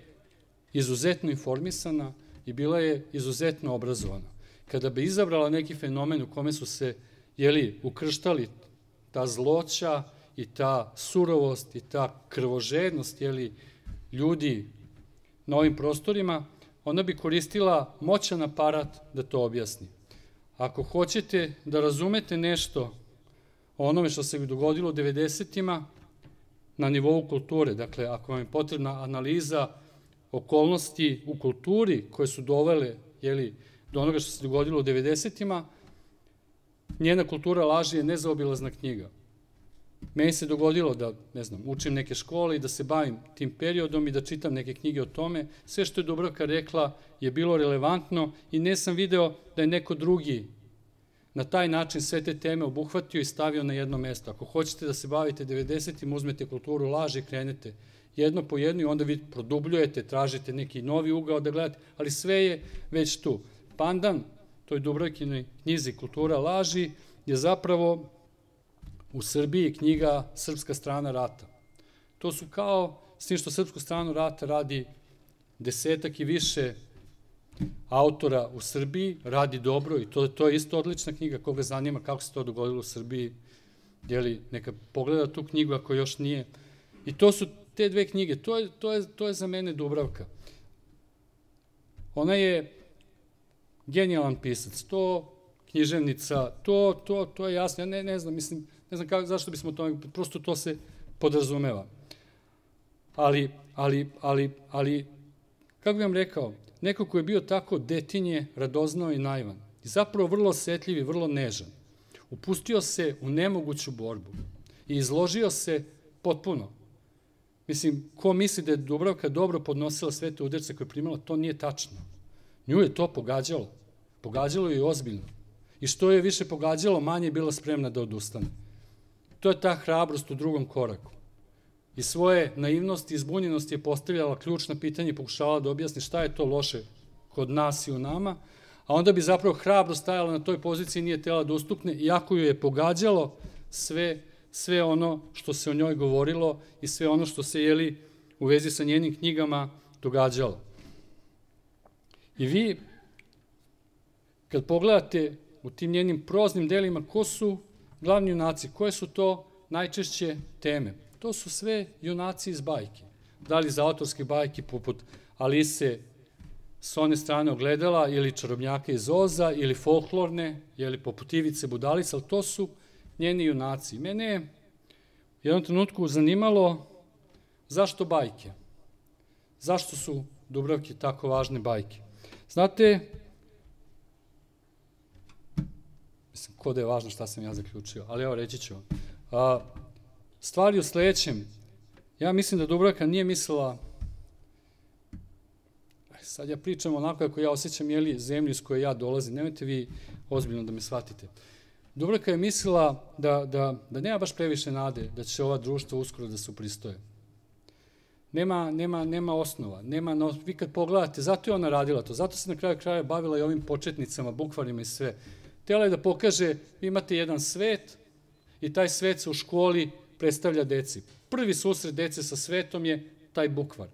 izuzetno informisana i bila je izuzetno obrazovana. Kada bi izabrala neki fenomen u kome su se, jeli, ukrštali ta zloća i ta surovost i ta krvožednost, jeli, ljudi na ovim prostorima, ona bi koristila moćan aparat da to objasni. Ako hoćete da razumete nešto o onome što se dogodilo u devedesetima na nivou kulture, dakle, ako vam je potrebna analiza okolnosti u kulturi koje su dovele, jeli, do onoga što se dogodilo u devedesetima, njena kultura laži je nezaobilazna knjiga. Meni se dogodilo da, ne znam, učim neke škole i da se bavim tim periodom i da čitam neke knjige o tome. Sve što je Dubravka rekla je bilo relevantno i ne sam video da je neko drugi na taj način sve te teme obuhvatio i stavio na jedno mesto. Ako hoćete da se bavite devedesetim, uzmete kulturu laži i krenete jedno po jedno i onda vi produbljujete, tražite neki novi ugao da gledate, ali sve je već tu. Pandan toj Dubravkinoj knjizi Kultura laži je zapravo u Srbiji knjiga Srpska strana rata. To su kao, s tim što Srpsku stranu rata radi desetak i više autora u Srbiji, radi dobro i to, to je isto odlična knjiga, koga zanima kako se to dogodilo u Srbiji, jeli, neka pogleda tu knjigu ako još nije. I to su te dve knjige, to je, to je, to je za mene Dubravka. Ona je genijalan pisac, to književnica, to, to, to je jasno, ja ne, ne znam, mislim, ne znam kako, zašto bismo to, prosto to se podrazumeva. Ali, ali, ali, ali, kako bih vam rekao, neko ko je bio tako detinje, radoznao i naivan, i zapravo vrlo osetljiv i vrlo nežan, upustio se u nemoguću borbu i izložio se potpuno. Mislim, ko misli da je Dubravka dobro podnosila sve te udarce koje je primala, to nije tačno. Nju je to pogađalo. pogađalo je ozbiljno. I što je više pogađalo, manje je bila spremna da odustane. To je ta hrabrost u drugom koraku. I svoje naivnosti i zbunjenosti je postavljala ključna pitanja i pokušavala da objasni šta je to loše kod nas i u nama, a onda bi zapravo hrabro stajala na toj poziciji i nije tela da ustukne, iako ju je pogađalo sve, sve ono što se o njoj govorilo i sve ono što se, jeli, u vezi sa njenim knjigama događalo. I vi, kad pogledate u tim njenim proznim delima, ko su glavni junaci, koje su to najčešće teme? To su sve junaci iz bajke. Da li iz autorske bajke poput Alise s one strane ogledala, ili Čarobnjaka iz Oza, ili folklorne, ili poput Ivice Budalice, ali to su njeni junaci. Mene je u jednom trenutku zanimalo zašto bajke? Zašto su Dubravki tako važne bajke? Znate, mislim, ko da je važno šta sam ja zaključio, ali evo reći ću vam. A, stvari u sledećem, ja mislim da Dubravka nije mislila, sad ja pričam onako kako ja osjećam, jeli, zemlju iz koje ja dolazim, nemojte vi ozbiljno da me shvatite. Dubravka je mislila da, da, da nema baš previše nade da će ova društva uskoro da se upristoje. Nema, nema, nema osnova, nema, no, vi kad pogledate, zato je ona radila to, zato se na kraju kraja bavila i ovim početnicama, bukvarima i sve. Htjela je da pokaže, vi imate jedan svet i taj svet se u školi predstavlja deci. Prvi susret dece sa svetom je taj bukvar.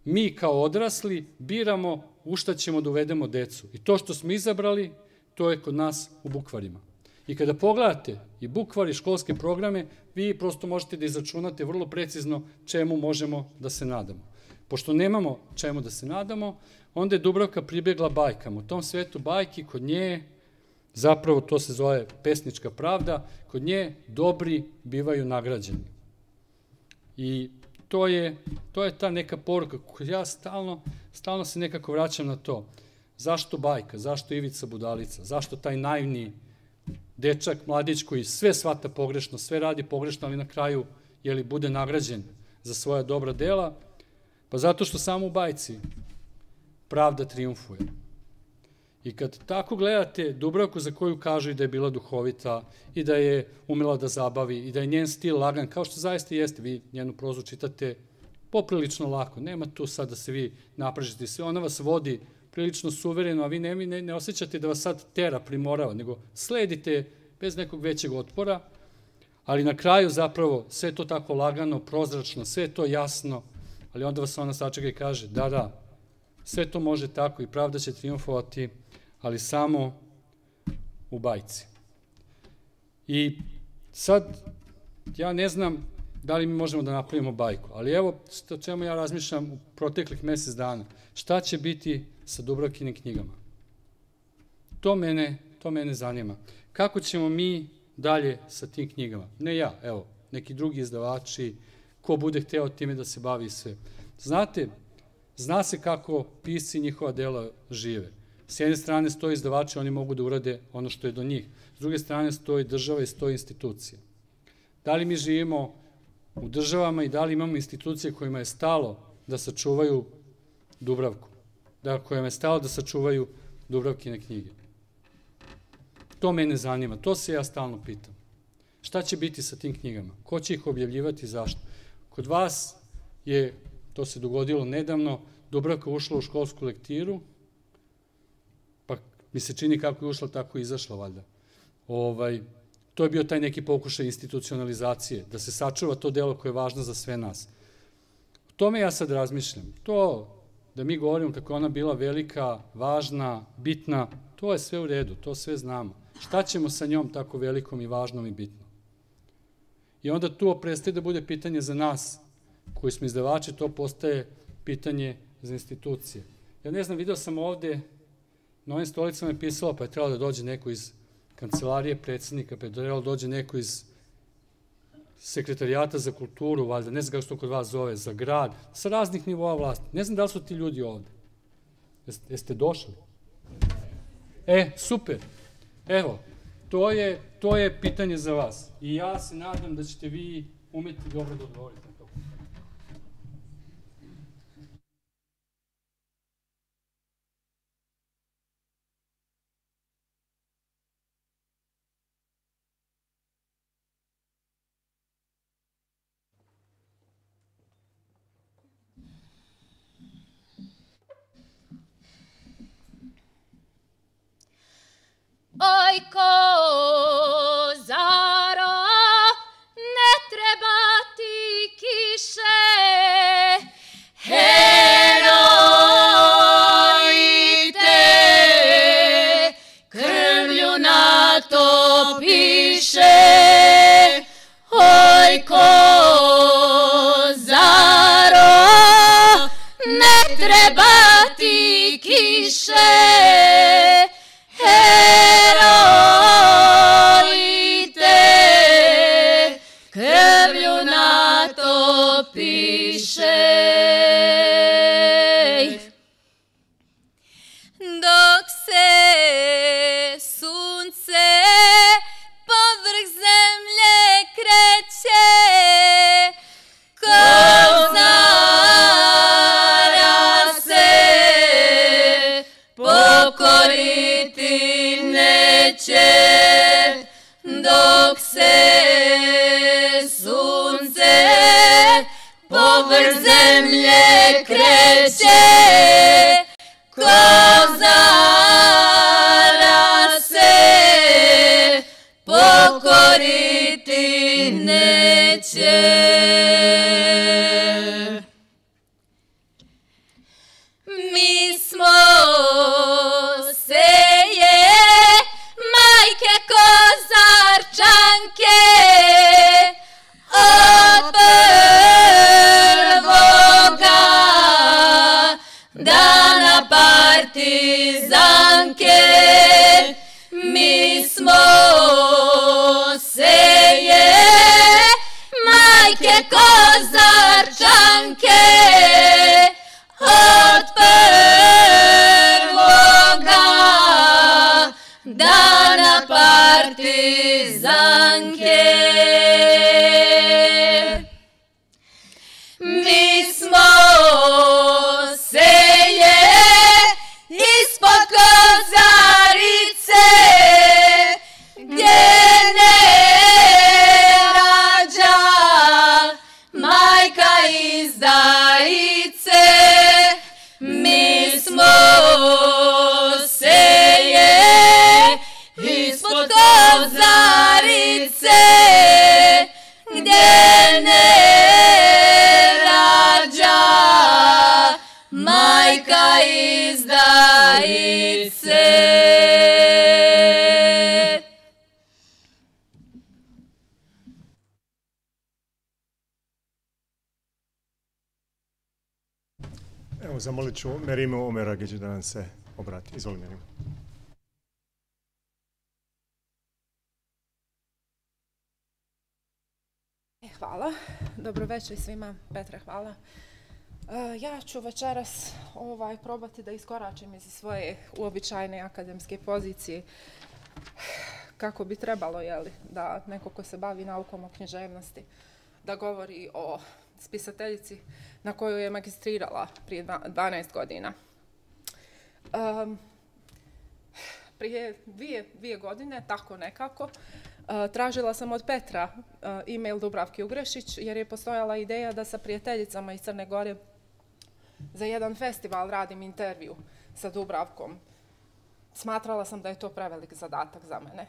Mi kao odrasli biramo u šta ćemo da uvedemo decu. I to što smo izabrali, to je kod nas u bukvarima. I kada pogledate i bukvar i školske programe, vi prosto možete da izračunate vrlo precizno čemu možemo da se nadamo. Pošto nemamo čemu da se nadamo, onda je Dubravka pribegla bajkama. U tom svetu bajki, kod nje, zapravo to se zove pesnička pravda, kod nje dobri bivaju nagrađeni. I to je, to je ta neka poruka koju ja stalno, stalno se nekako vraćam na to. Zašto bajka? Zašto Ivica Budalica? Zašto taj naivni dečak, mladić koji sve shvata pogrešno, sve radi pogrešno, ali na kraju, jeli, bude nagrađen za svoja dobra dela? Pa zato što samo u bajci pravda triumfuje. I kad tako gledate Dubravku, za koju kažu i da je bila duhovita i da je umela da zabavi i da je njen stil lagan, kao što zaista jeste, vi njenu prozu čitate poprilično lako, nema tu sad da se vi napražite sve, ona vas vodi prilično suvereno, a vi ne, ne, ne osjećate da vas sad tera, primorava, nego sledite bez nekog većeg otpora, ali na kraju zapravo sve to tako lagano, prozračno, sve to jasno, ali onda vas ona sačeka i kaže, da, da, sve to može tako i pravda će triumfovati, ali samo u bajci. I sad, ja ne znam da li mi možemo da napravimo bajku, ali evo o čemu ja razmišljam u proteklih mesec dana. Šta će biti sa Dubravkinim knjigama? To mene, to mene zanima. Kako ćemo mi dalje sa tim knjigama? Ne ja, evo, neki drugi izdavači, ko bude hteo time da se bavi sve. Znate, zna se kako pisci i njihova dela žive. S jedne strane stoji izdavači, oni mogu da urade ono što je do njih. S druge strane stoji država i stoji institucija. Da li mi živimo u državama i da li imamo institucije kojima je stalo da sačuvaju Dubravku? Da, kojima je stalo da sačuvaju Dubravkine knjige? To mene zanima, to se ja stalno pitam. Šta će biti sa tim knjigama? Ko će ih objavljivati i zašto? Kod vas je, to se dogodilo nedavno, Dubravka ušla u školsku lektiru, pa mi se čini kako je ušla, tako je izašla, valjda. Ovaj, to je bio taj neki pokušaj institucionalizacije, da se sačuva to delo koje je važno za sve nas. O tome ja sad razmišljam. To da mi govorimo kako je ona bila velika, važna, bitna, to je sve u redu, to sve znamo. Šta ćemo sa njom tako velikom i važnom i bitnom? I onda tu prestaje da bude pitanje za nas, koji smo izdavači, to postaje pitanje za institucije. Ja ne znam, video sam ovde, na ovim stolicama je pisalo, pa je trebalo da dođe neko iz kancelarije predsjednika, pa je trebalo da dođe neko iz sekretarijata za kulturu, valjda, ne znam kako se to kod vas zove, za grad, sa raznih nivoa vlasti. Ne znam da li su ti ljudi ovde. Jeste, jeste došli? E, super. Evo, to je, to je pitanje za vas. I ja se nadam da ćete vi umeti dobro da odgovorite. dok se sunce povrh zemlje kreće, kozara se pokoriti neće. Mi smo seje, majke kozarčanke, od prvoga dana partizanke. Mi smo seje, majke kozarčanke, od prvoga dana partizanke. Mi smo seje ispod kozarice, gdje ne rađa majka izdajice. Mi smo seje ispod kozarice, gdje ne rađa majka izdajice. Evo, zamolit ću Merimu Omeragić da nam se obrati. Izvoli, Merimo. Hvala. Dobro večer svima. Petre, hvala. Ja ću večeras ovaj, probati da iskoračim iz svoje uobičajene akademske pozicije kako bi trebalo, jeli, da neko ko se bavi naukom o književnosti da govori o spisateljici na koju je magistrirala prije dvanaest godina. Um, prije dvije, dvije godine, tako nekako, uh, tražila sam od Petra uh, e-mail Dubravke Ugrešić, jer je postojala ideja da sa prijateljicama iz Crne Gore za jedan festival radim intervju sa Dubravkom. Smatrala sam da je to prevelik zadatak za mene.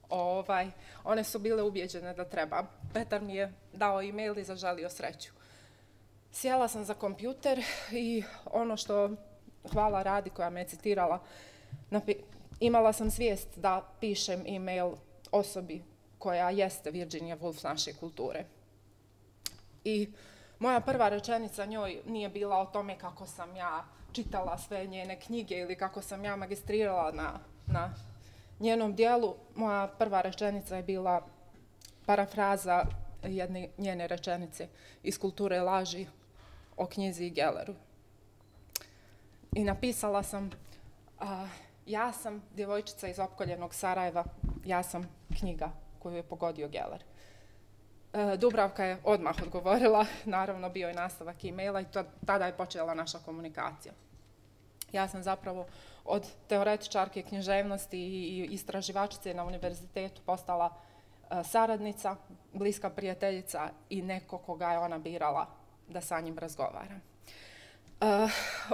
Ovaj, one su bile ubijeđene da treba. Petar mi je dao e-mail i zaželio sreću. Sjela sam za kompjuter i ono što, hvala Radi koja me je citirala, imala sam svijest da pišem e-mail osobi koja jeste Virginia Woolf naše kulture. I moja prva rečenica njoj nije bila o tome kako sam ja čitala sve njene knjige ili kako sam ja magistrirala na, na njenom dijelu. Moja prva rečenica je bila parafraza jedne njene rečenice iz Kulture laži o knjizi Gelleru. I napisala sam, a, ja sam djevojčica iz opkoljenog Sarajeva, ja sam knjiga koju je pogodio Geller. E, Dubravka je odmah odgovorila, naravno bio je nastavak e-maila i to, tada je počela naša komunikacija. Ja sam zapravo od teoretičarke književnosti i istraživačice na univerzitetu postala e, saradnica, bliska prijateljica i neko koga je ona birala da sa njim razgovara. E,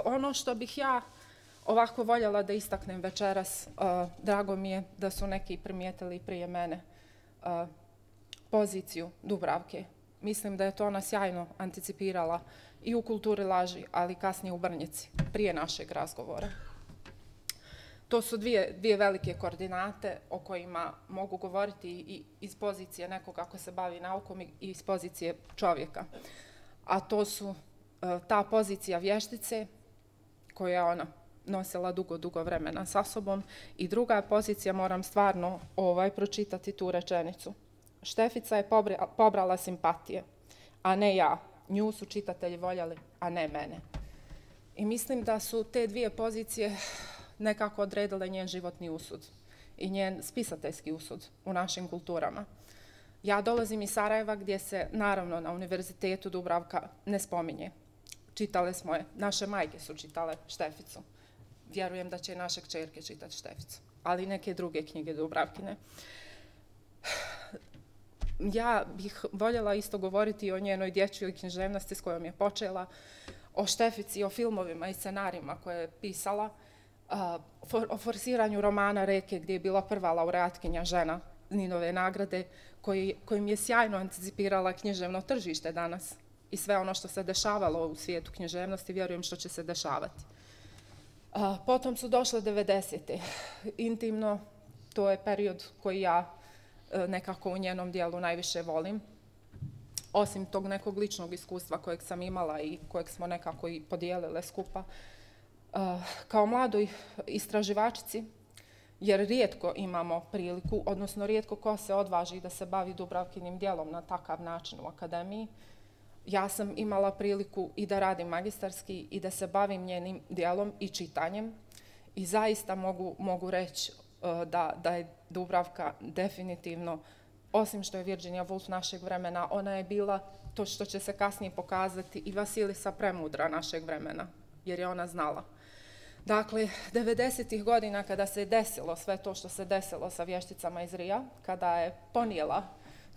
ono što bih ja ovako voljela da istaknem večeras, uh, drago mi je da su neki primijetili prije mene uh, poziciju Dubravke. Mislim da je to ona sjajno anticipirala i u Kulturi laži, ali kasnije u Brnjici, prije našeg razgovora. To su dvije, dvije velike koordinate o kojima mogu govoriti i iz pozicije nekoga ko se bavi naukom i iz pozicije čovjeka. A to su uh, ta pozicija vještice koja je ona nosila dugo, dugo vremena sa sobom i druga pozicija, moram stvarno ovaj, pročitati tu rečenicu. Štefica je pobrala simpatije, a ne ja. Nju su čitatelji voljeli, a ne mene. I mislim da su te dvije pozicije nekako odredile njen životni usud i njen spisateljski usud u našim kulturama. Ja dolazim iz Sarajeva gdje se, naravno, na univerzitetu Dubravka ne spominje. Čitale smo je, naše majke su čitale Šteficu. Vjerujem da će i naše kćerke čitati Šteficu, ali neke druge knjige Dubravkine. ja bih voljela isto govoriti o njenoj dječjoj književnosti s kojom je počela, o Štefici, o filmovima i scenarijima koje je pisala, o forsiranju romana Reke gdje je bila prva laureatkinja žena Ninove nagrade, koji, kojim je sjajno anticipirala književno tržište danas i sve ono što se dešavalo u svijetu književnosti, vjerujem što će se dešavati. Potom su došle devedesete. Intimno, to je period koji ja nekako u njenom dijelu najviše volim. Osim tog nekog ličnog iskustva kojeg sam imala i kojeg smo nekako i podijelile skupa. Kao mladoj istraživačici, jer rijetko imamo priliku, odnosno rijetko ko se odvaži da se bavi Dubravkinim djelom na takav način u akademiji, ja sam imala priliku i da radim magistarski i da se bavim njenim djelom i čitanjem i zaista mogu, mogu reći da, da je Dubravka definitivno, osim što je Virginia Woolf našeg vremena, ona je bila to što će se kasnije pokazati i Vasilisa Premudra našeg vremena, jer je ona znala. Dakle, devedesetih godina kada se desilo sve to što se desilo sa vješticama iz Rija, kada je ponijela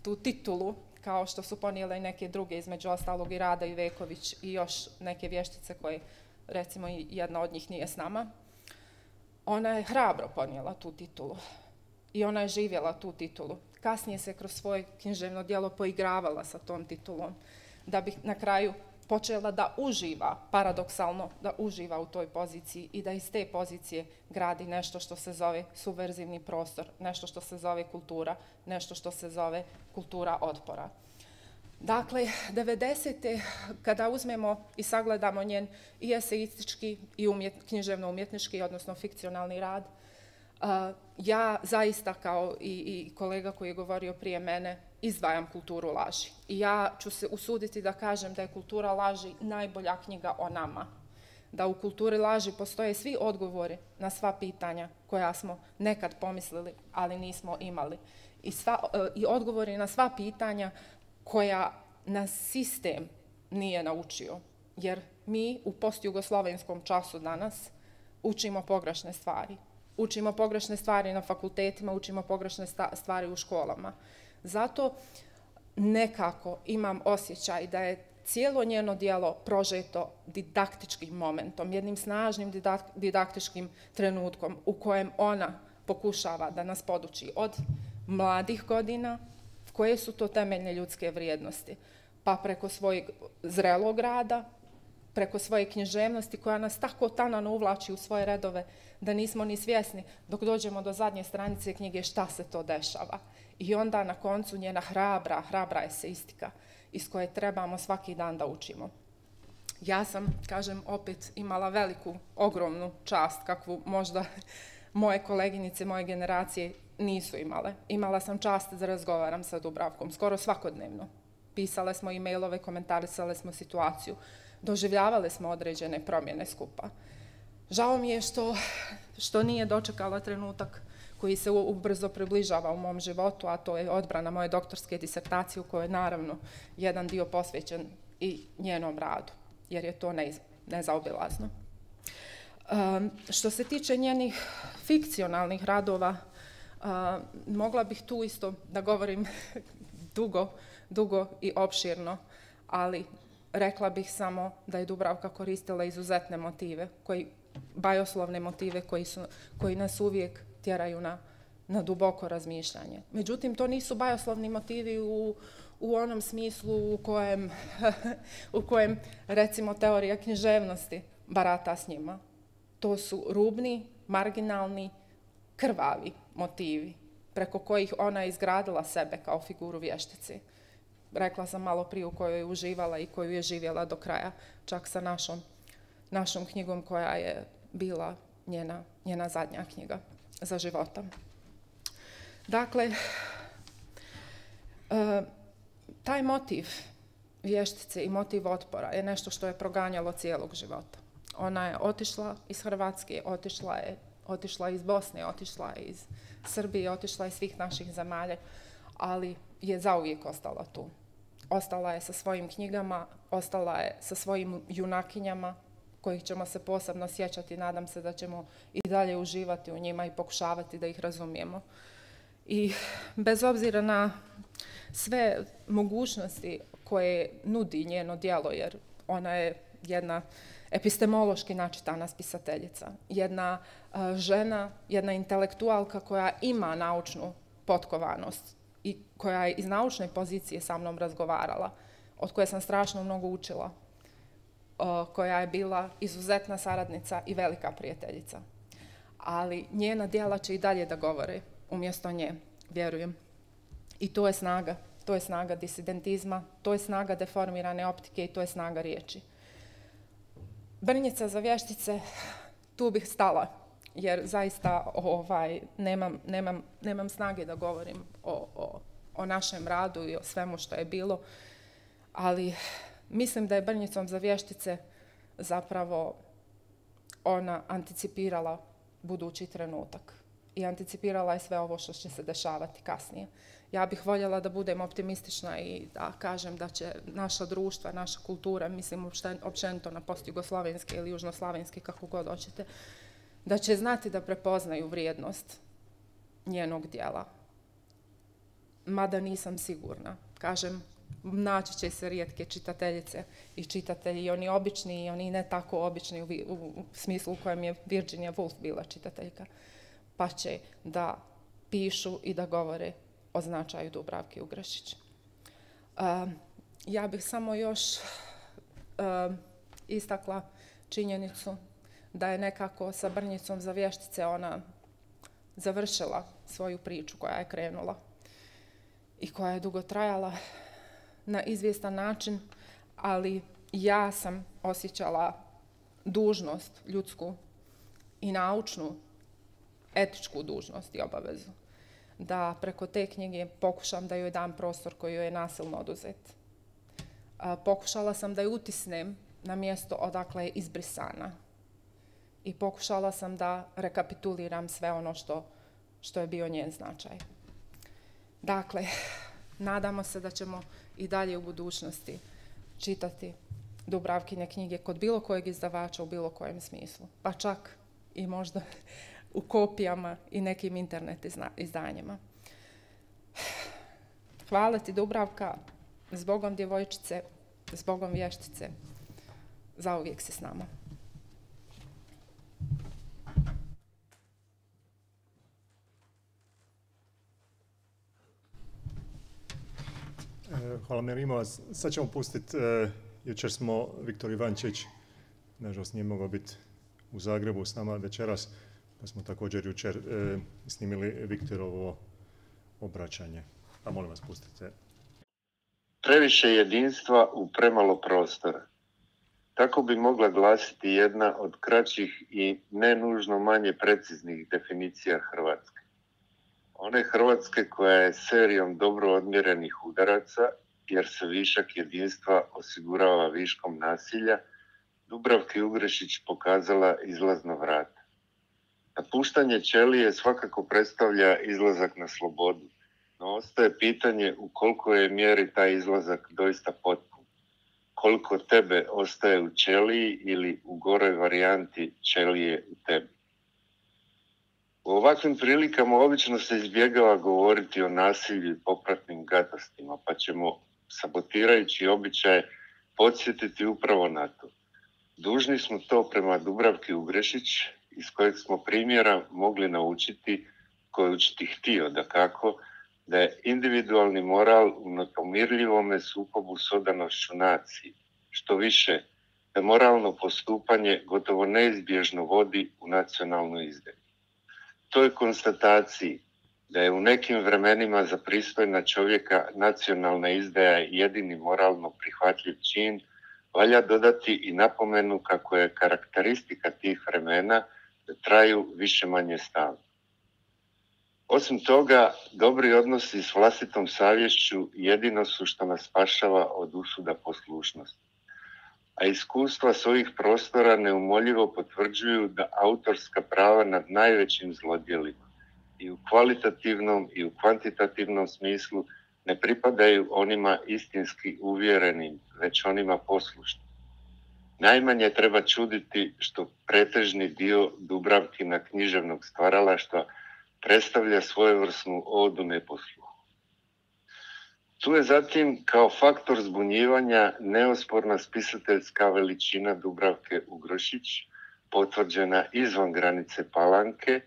tu titulu, kao što su ponijele i neke druge, između ostalog i Rada Iveković i još neke vještice koje, recimo, jedna od njih nije s nama, ona je hrabro ponijela tu titulu i ona je živjela tu titulu. Kasnije se kroz svoje književno djelo poigravala sa tom titulom, da bi na kraju počela da uživa, paradoksalno, da uživa u toj poziciji i da iz te pozicije gradi nešto što se zove subverzivni prostor, nešto što se zove kultura, nešto što se zove kultura otpora. Dakle, devedesete. kada uzmemo i sagledamo njen i eseistički i umjet, književno-umjetnički, odnosno fikcionalni rad, uh, ja zaista, kao i, i kolega koji je govorio prije mene, izdvajam kulturu laži. I ja ću se usuditi da kažem da je kultura laži najbolja knjiga o nama. Da u kulturi laži postoje svi odgovori na sva pitanja koja smo nekad pomislili, ali nismo imali. I, sva, i odgovori na sva pitanja koja nas sistem nije naučio. Jer mi u postjugoslovenskom času danas učimo pogrešne stvari. Učimo pogrešne stvari na fakultetima, učimo pogrešne stvari u školama. Zato nekako imam osjećaj da je cijelo njeno djelo prožeto didaktičkim momentom, jednim snažnim didaktičkim trenutkom u kojem ona pokušava da nas poduči od mladih godina, koje su to temeljne ljudske vrijednosti, pa preko svojeg zrelog rada, preko svoje književnosti koja nas tako tanano uvlači u svoje redove da nismo ni svjesni dok dođemo do zadnje stranice knjige šta se to dešava. I onda na koncu njena hrabra, hrabra eseistika iz koje trebamo svaki dan da učimo. Ja sam, kažem, opet imala veliku, ogromnu čast kakvu možda moje koleginice, moje generacije nisu imale. Imala sam čast da razgovaram sa Dubravkom skoro svakodnevno. Pisale smo e-mailove, komentarisale smo situaciju, doživljavale smo određene promjene skupa. Žao mi je što, što nije dočekala trenutak koji se ubrzo približava u mom životu, a to je odbrana moje doktorske disertacije u kojoj je naravno jedan dio posvećen i njenom radu, jer je to neiz, nezaobilazno. Um, što se tiče njenih fikcionalnih radova, uh, mogla bih tu isto da govorim dugo, dugo i opširno, ali rekla bih samo da je Dubravka koristila izuzetne motive, koji, bajoslovne motive koji, su, koji nas uvijek tjeraju na, na duboko razmišljanje. Međutim, to nisu bajoslovni motivi u, u onom smislu u kojem, u kojem, recimo, teorija književnosti barata s njima. To su rubni, marginalni, krvavi motivi preko kojih ona je izgradila sebe kao figuru vještice. Rekla sam malo prije u kojoj je uživala i koju je živjela do kraja, čak sa našom, našom knjigom koja je bila njena, njena zadnja knjiga za života. Dakle, e, taj motiv vještice i motiv otpora je nešto što je proganjalo cijelog života. Ona je otišla iz Hrvatske, otišla je, otišla iz Bosne, otišla je iz Srbije, otišla je iz svih naših zemalja, ali je zauvijek ostala tu. Ostala je sa svojim knjigama, ostala je sa svojim junakinjama, kojih ćemo se posebno sjećati. Nadam se da ćemo i dalje uživati u njima i pokušavati da ih razumijemo. I bez obzira na, sve mogućnosti koje nudi njeno djelo, jer ona je jedna epistemološki načitana spisateljica, jedna uh, žena, jedna intelektualka koja ima naučnu potkovanost i koja je iz naučne pozicije sa mnom razgovarala, od koje sam strašno mnogo učila, uh, koja je bila izuzetna saradnica i velika prijateljica. Ali njena djela će i dalje da govore umjesto nje, vjerujem. I to je snaga, to je snaga disidentizma, to je snaga deformirane optike i to je snaga riječi. Brnjica za vještice, tu bih stala, jer zaista ovaj, nemam, nemam, nemam snage da govorim o, o, o našem radu i o svemu što je bilo, ali mislim da je Brnjicom za vještice zapravo ona anticipirala budući trenutak i anticipirala je sve ovo što će se dešavati kasnije. Ja bih voljela da budem optimistična i da kažem da će naša društva, naša kultura, mislim općenito na postjugoslovenske ili južnoslavenske, kako god hoćete, da će znati da prepoznaju vrijednost njenog djela. Mada nisam sigurna. Kažem, naći će se rijetke čitateljice i čitatelji, i oni obični i oni ne tako obični u, u, u smislu u kojem je Virginia Woolf bila čitateljka, pa će da pišu i da govore o značaju Dubravke Ugrešić. Uh, ja bih samo još uh, istakla činjenicu da je nekako sa Brnjicom za vještice ona završila svoju priču koja je krenula i koja je dugo trajala na izvjestan način, ali ja sam osjećala dužnost ljudsku i naučnu, etičku dužnost i obavezu da preko te knjige pokušam da joj dam prostor koji joj je nasilno oduzet. Pokušala sam da je utisnem na mjesto odakle je izbrisana i pokušala sam da rekapituliram sve ono što, što je bio njen značaj. Dakle, nadamo se da ćemo i dalje u budućnosti čitati Dubravkine knjige kod bilo kojeg izdavača u bilo kojem smislu, pa čak i možda u kopijama i nekim internet izdanjima. Hvala ti, Dubravka, zbogom djevojčice, zbogom vještice, zauvijek si s nama. Hvala Mirimo. Sad ćemo pustiti, uh, jučer smo Viktor Ivančić, nažalost nije mogao biti u Zagrebu s nama večeras, pa smo također jučer uh, snimili Viktorovo obraćanje. Pa molim vas, pustite. Previše jedinstva u premalo prostora. Tako bi mogla glasiti jedna od kraćih i ne nužno manje preciznih definicija Hrvatske. One Hrvatske koja je serijom dobro odmjerenih udaraca, jer se višak jedinstva osigurava viškom nasilja, Dubravki Ugrešić pokazala izlazno vrat. Napuštanje ćelije svakako predstavlja izlazak na slobodu, no ostaje pitanje u koliko je mjeri taj izlazak doista potpun. Koliko tebe ostaje u ćeliji ili u goroj varijanti ćelije u tebi. U ovakvim prilikama obično se izbjegava govoriti o nasilju i popratnim gadostima, pa ćemo, sabotirajući običaje, podsjetiti upravo na to. Dužni smo to prema Dubravki Ugrešić, iz kojeg smo primjera mogli naučiti, koji učiti htio, da kako, da je individualni moral u nepomirljivome sukobu s odanošću naciji. Što više, da moralno postupanje gotovo neizbježno vodi u nacionalnu izdaju. Toj konstataciji da je u nekim vremenima za pristojna čovjeka nacionalna izdaja jedini moralno prihvatljiv čin, valja dodati i napomenu kako je karakteristika tih vremena da traju više manje stalno. Osim toga, dobri odnosi s vlastitom savješću jedino su što nas spašava od usuda poslušnosti. A iskustva s ovih prostora neumoljivo potvrđuju da autorska prava nad najvećim zlodjelima i u kvalitativnom i u kvantitativnom smislu ne pripadaju onima istinski uvjerenim, već onima poslušnim. Najmanje treba čuditi što pretežni dio Dubravkina književnog stvaralaštva predstavlja svojevrsnu odu neposluhu. Tu je zatim kao faktor zbunjivanja neosporna spisateljska veličina Dubravke Ugrošić, potvrđena izvan granice Palanke,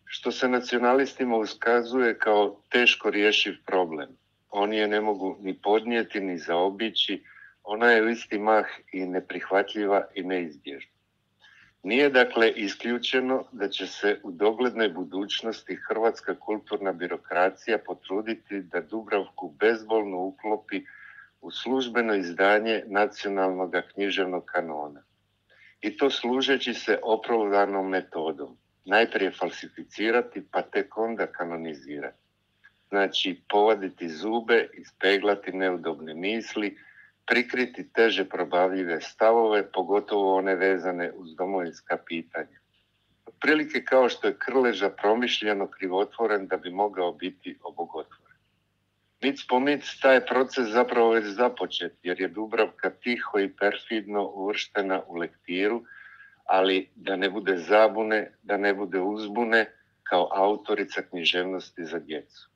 što se nacionalistima uskazuje kao teško rješiv problem. Oni je ne mogu ni podnijeti, ni zaobići, ona je u isti mah i neprihvatljiva i neizbježna. Nije dakle isključeno da će se u doglednoj budućnosti hrvatska kulturna birokracija potruditi da Dubravku bezbolno uklopi u službeno izdanje nacionalnog književnog kanona. I to služeći se opravdanom metodom. Najprije falsificirati, pa tek onda kanonizirati. Znači, povaditi zube, ispeglati neudobne misli, prikriti teže probavljive stavove, pogotovo one vezane uz domovinska pitanja. Otprilike kao što je Krleža promišljeno krivotvoren da bi mogao biti obogotvoren. Mic po mic taj proces zapravo već započet, jer je Dubravka tiho i perfidno uvrštena u lektiru, ali da ne bude zabune, da ne bude uzbune, kao autorica književnosti za djecu.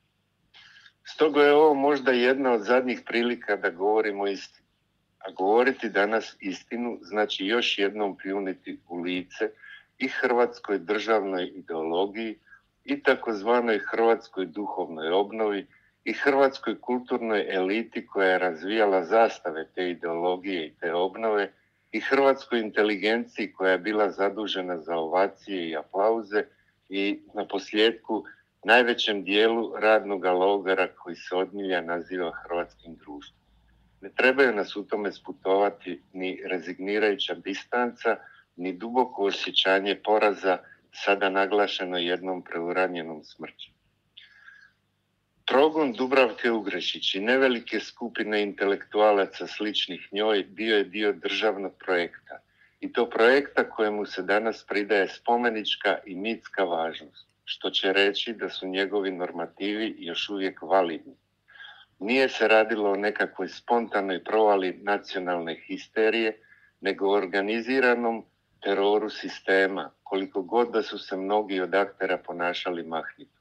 Stoga je ovo možda jedna od zadnjih prilika da govorimo istinu. A govoriti danas istinu znači još jednom pljuniti u lice i hrvatskoj državnoj ideologiji i takozvanoj hrvatskoj duhovnoj obnovi i hrvatskoj kulturnoj eliti koja je razvijala zastave te ideologije i te obnove i hrvatskoj inteligenciji koja je bila zadužena za ovacije i aplauze i na posljedku najvećem dijelu radnog logora koji se od milja naziva hrvatskim društvom. Ne trebaju nas u tome sputovati ni rezignirajuća distanca, ni duboko osjećanje poraza, sada naglašeno jednom preuranjenom smrću. Progon Dubravke Ugrošić i nevelike skupine intelektualaca sličnih njoj bio je dio državnog projekta. I to projekta kojemu se danas pridaje spomenička i mitska važnost, što će reći da su njegovi normativi još uvijek validni. Nije se radilo o nekakvoj spontanoj provali nacionalne histerije, nego o organiziranom teroru sistema, koliko god da su se mnogi od aktera ponašali mahnito.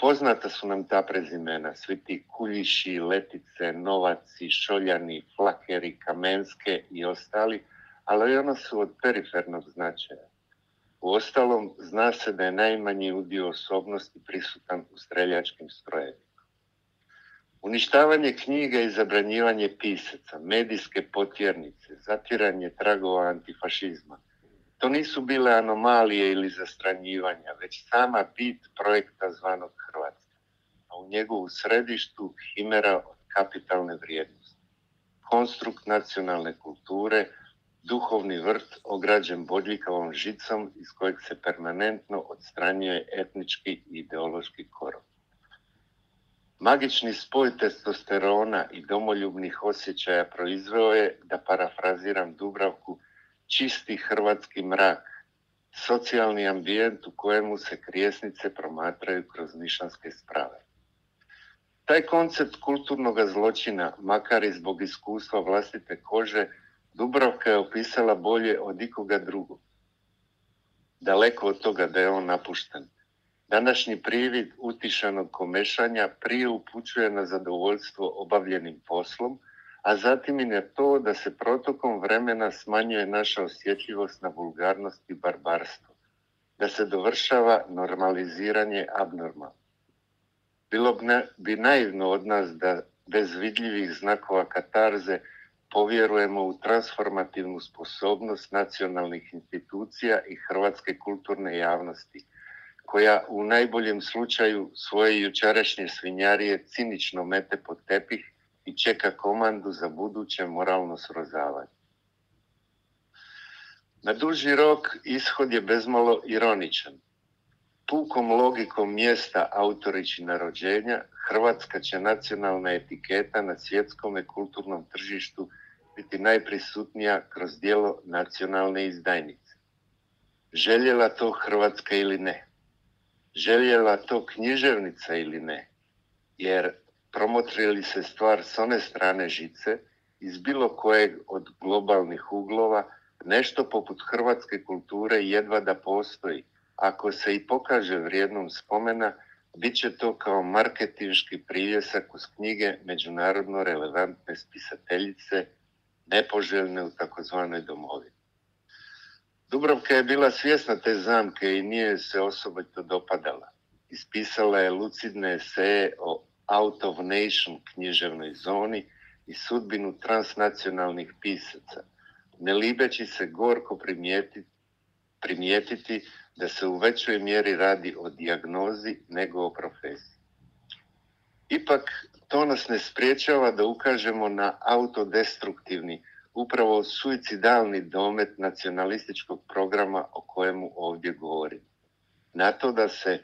Poznata su nam ta prezimena, svi ti Kuljiši, Letice, Novaci, Šoljani, Flakeri, Kamenske i ostali, ali ona su od perifernog značaja. Uostalom, zna se da je najmanji udio osobnosti prisutan u streljačkim strojevima. Uništavanje knjige i zabranjivanje pisaca, medijske potjernice, zatiranje tragova antifašizma, to nisu bile anomalije ili zastranjivanja, već sama bit projekta zvanog Hrvatska, a u njegovu središtu himera od kapitalne vrijednosti. Konstrukt nacionalne kulture, duhovni vrt ograđen bodljikavom žicom iz kojeg se permanentno odstranjuje etnički i ideološki korov. Magični spoj testosterona i domoljubnih osjećaja proizveo je, da parafraziram Dubravku, čisti hrvatski mrak, socijalni ambijent u kojemu se krijesnice promatraju kroz nišanske sprave. Taj koncept kulturnog zločina, makar i zbog iskustva vlastite kože, Dubravka je opisala bolje od ikoga drugog. Daleko od toga da je on napušten. Današnji privid utišanog komešanja prije upućuje na zadovoljstvo obavljenim poslom, a zatim i na to da se protokom vremena smanjuje naša osjetljivost na vulgarnost i barbarstvo, da se dovršava normaliziranje abnormalno. Bilo bi naivno od nas da bez vidljivih znakova katarze povjerujemo u transformativnu sposobnost nacionalnih institucija i hrvatske kulturne javnosti, koja u najboljem slučaju svoje jučerašnje svinjarije cinično mete pod tepih i čeka komandu za buduće moralno srozavanje. Na duži rok ishod je bezmalo ironičan. Pukom logikom mjesta autoričina rođenja, hrvatska će nacionalna etiketa na svjetskome kulturnom tržištu biti najprisutnija kroz djelo nacionalne izdajnice. Željela to Hrvatska ili ne? Željela to književnica ili ne? Jer promotri li se stvar s one strane žice, iz bilo kojeg od globalnih uglova, nešto poput hrvatske kulture jedva da postoji, ako se i pokaže vrijednom spomena, Biće to kao marketinški privjesak uz knjige međunarodno relevantne spisateljice, nepoželjne u takozvanoj domovini. Dubravka je bila svjesna te zamke i nije se osobito dopadala. Ispisala je lucidne eseje o out of nation književnoj zoni i sudbinu transnacionalnih pisaca, ne libeći se gorko primijetiti, primijetiti da se u većoj mjeri radi o dijagnozi nego o profesiji. Ipak, to nas ne spriječava da ukažemo na autodestruktivni, upravo suicidalni domet nacionalističkog programa o kojemu ovdje govorim. Na to da se,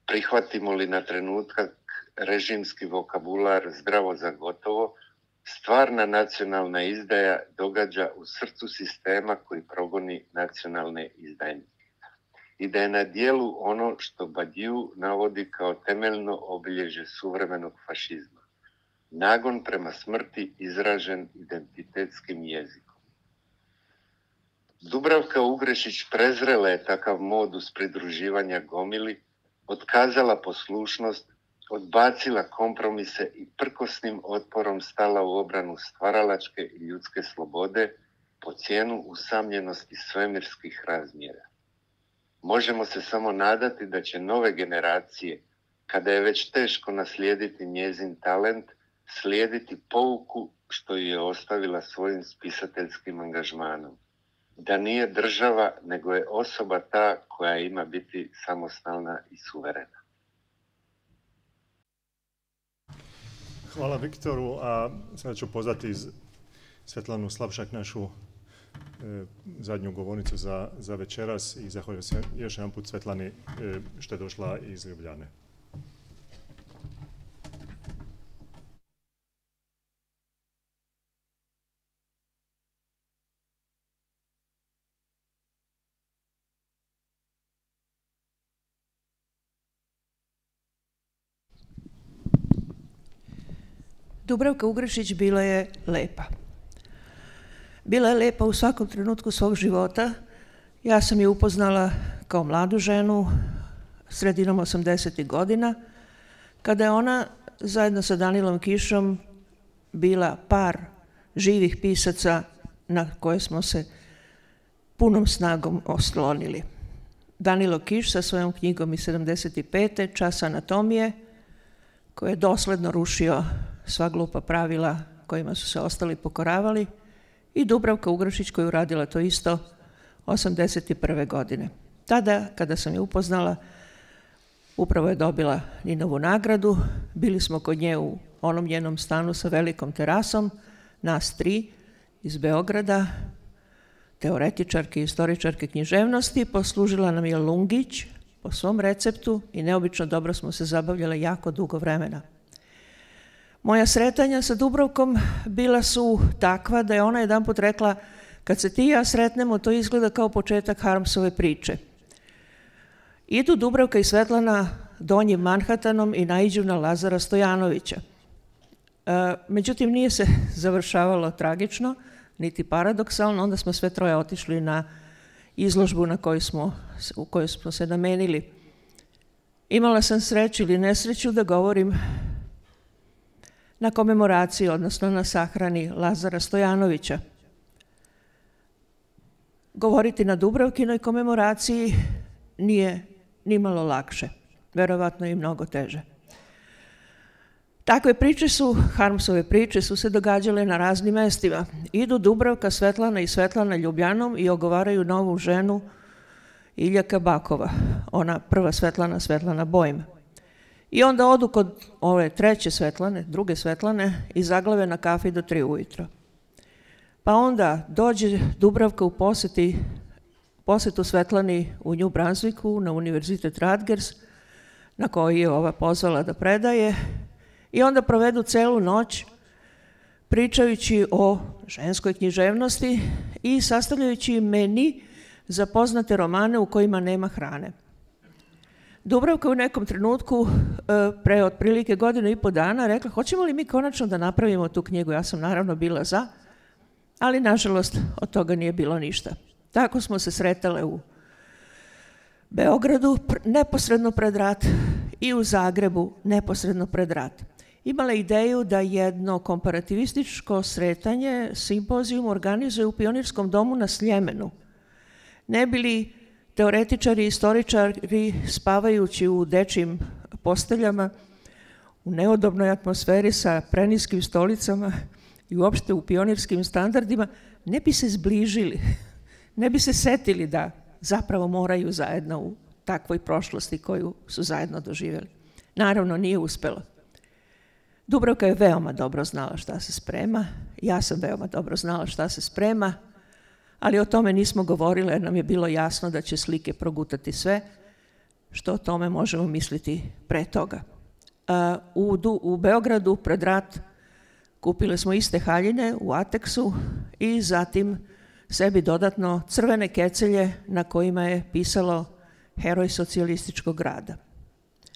prihvatimo li na trenutak režimski vokabular zdravo za gotovo, stvarna nacionalna izdaja događa u srcu sistema koji progoni nacionalne izdajnike. I da je na dijelu ono što Badiou navodi kao temeljno obilježje suvremenog fašizma. Nagon prema smrti izražen identitetskim jezikom. Dubravka Ugrešić prezrela je takav modus pridruživanja gomili, otkazala poslušnost, odbacila kompromise i prkosnim otporom stala u obranu stvaralačke i ljudske slobode po cijenu usamljenosti svemirskih razmjera. Možemo se samo nadati da će nove generacije, kada je već teško naslijediti njezin talent, slijediti pouku što ju je ostavila svojim spisateljskim angažmanom. Da nije država, nego je osoba ta koja ima biti samostalna i suverena. Hvala Viktoru, a sada ću pozvati Svetlanu Slapšak, našu e, zadnju govornicu za, za večeras, i zahvaljujem se još jedan put Svetlani e, što je došla iz Ljubljane. Dubravka Ugrešić bila je lepa. Bila je lepa u svakom trenutku svog života. Ja sam je upoznala kao mladu ženu sredinom osamdesetih godina, kada je ona zajedno sa Danilom Kišom bila par živih pisaca na koje smo se punom snagom oslonili. Danilo Kiš sa svojom knjigom iz sedamdeset pete. Čas anatomije, koji je dosledno rušio sva glupa pravila kojima su se ostali pokoravali, i Dubravka Ugrešić koja je uradila to isto osamdeset prve godine. Tada, kada sam je upoznala, upravo je dobila Ninovu nagradu. Bili smo kod nje u onom njenom stanu sa velikom terasom, nas tri iz Beograda, teoretičarke i istoričarke književnosti. Poslužila nam je Lungić po svom receptu i neobično dobro smo se zabavljale jako dugo vremena. Moja sretanja sa Dubravkom bila su takva da je ona jedanput rekla: kad se ti i ja sretnemo, to izgleda kao početak Harmsove priče. Idu Dubravka i Svetlana donjim Manhattanom i naiđu na Lazara Stojanovića. E, međutim, nije se završavalo tragično, niti paradoksalno. Onda smo sve troje otišli na izložbu na koju smo, u kojoj smo se namenili. Imala sam sreću ili nesreću da govorim na komemoraciji, odnosno na sahrani Lazara Stojanovića. Govoriti na Dubravkinoj komemoraciji nije nimalo lakše, verovatno i mnogo teže. Takve priče su, Harmsove priče, su se događale na raznim mestima. Idu Dubravka, Svetlana i Svetlana Ljubljanom i ogovaraju novu ženu Iljaka Bakova, ona prva Svetlana, Svetlana Bojm. I onda odu kod ove treće Svetlane, druge Svetlane, i zaglave na kafi do tri ujutro. Pa onda dođe Dubravka u poseti, posetu Svetlani u New Brunswicku, na Univerzitet Rutgers, na koji je ova pozvala da predaje, i onda provedu celu noć pričajući o ženskoj književnosti i sastavljajući meni za poznate romane u kojima nema hrane. Dubravka u nekom trenutku, pre otprilike godinu i po dana, rekla: hoćemo li mi konačno da napravimo tu knjigu? Ja sam naravno bila za, ali nažalost od toga nije bilo ništa. Tako smo se sretale u Beogradu, neposredno pred rat, i u Zagrebu neposredno pred rat. Imala ideju da jedno komparativističko sretanje, simpozijum, organizuje u Pionirskom domu na Sljemenu. Ne bi li teoretičari i istoričari spavajući u dečjim posteljama, u neudobnoj atmosferi sa preniskim stolicama i uopšte u pionirskim standardima, ne bi se zbližili, ne bi se setili da zapravo moraju zajedno u takvoj prošlosti koju su zajedno doživjeli. Naravno, nije uspelo. Dubravka je veoma dobro znala šta se sprema, ja sam veoma dobro znala šta se sprema, ali o tome nismo govorili jer nam je bilo jasno da će slike progutati sve što o tome možemo misliti pre toga. U, u Beogradu pred rat kupile smo iste haljine u Ateksu i zatim sebi dodatno crvene kecelje na kojima je pisalo heroj socijalističkog rada.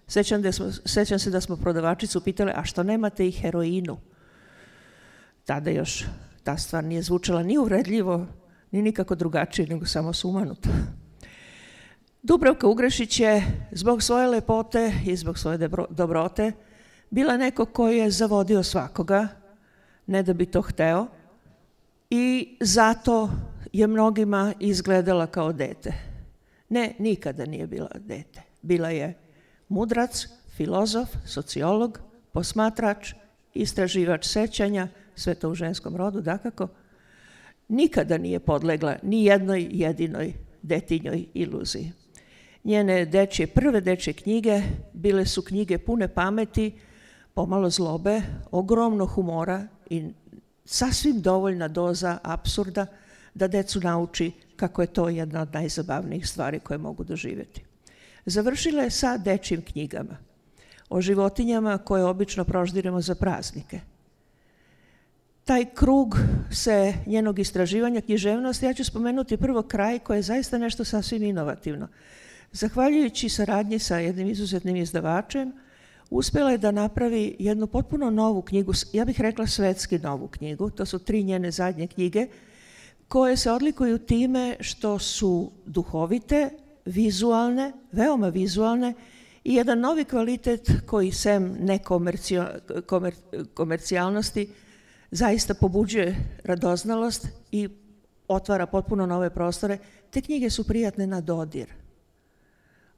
Sećam, da smo, sećam se da smo prodavačicu pitali, a što nemate i heroinu? Tada još ta stvar nije zvučala ni uvredljivo, ni nikako drugačije, nego samo sumanuto. Dubravka Ugrešić je zbog svoje lepote i zbog svoje dobrote bila neko koji je zavodio svakoga, ne da bi to hteo, i zato je mnogima izgledala kao dete. Ne, nikada nije bila dete. Bila je mudrac, filozof, sociolog, posmatrač, istraživač sećanja, sve to u ženskom rodu, dakako. Nikada nije podlegla ni jednoj jedinoj detinjoj iluziji. Njene dečje, prve dečje knjige bile su knjige pune pameti, pomalo zlobe, ogromno humora i sasvim dovoljna doza apsurda da decu nauči kako je to jedna od najzabavnijih stvari koje mogu doživjeti. Završila je sa dečjim knjigama o životinjama koje obično proždiremo za praznike. Taj krug se njenog istraživanja književnosti, ja ću spomenuti prvo kraj koji je zaista nešto sasvim inovativno. Zahvaljujući saradnji sa jednim izuzetnim izdavačem, uspjela je da napravi jednu potpuno novu knjigu, ja bih rekla svetski novu knjigu, to su tri njene zadnje knjige, koje se odlikuju time što su duhovite, vizualne, veoma vizualne i jedan novi kvalitet koji sem nekomercijalnosti zaista pobuđuje radoznalost i otvara potpuno nove prostore. Te knjige su prijatne na dodir.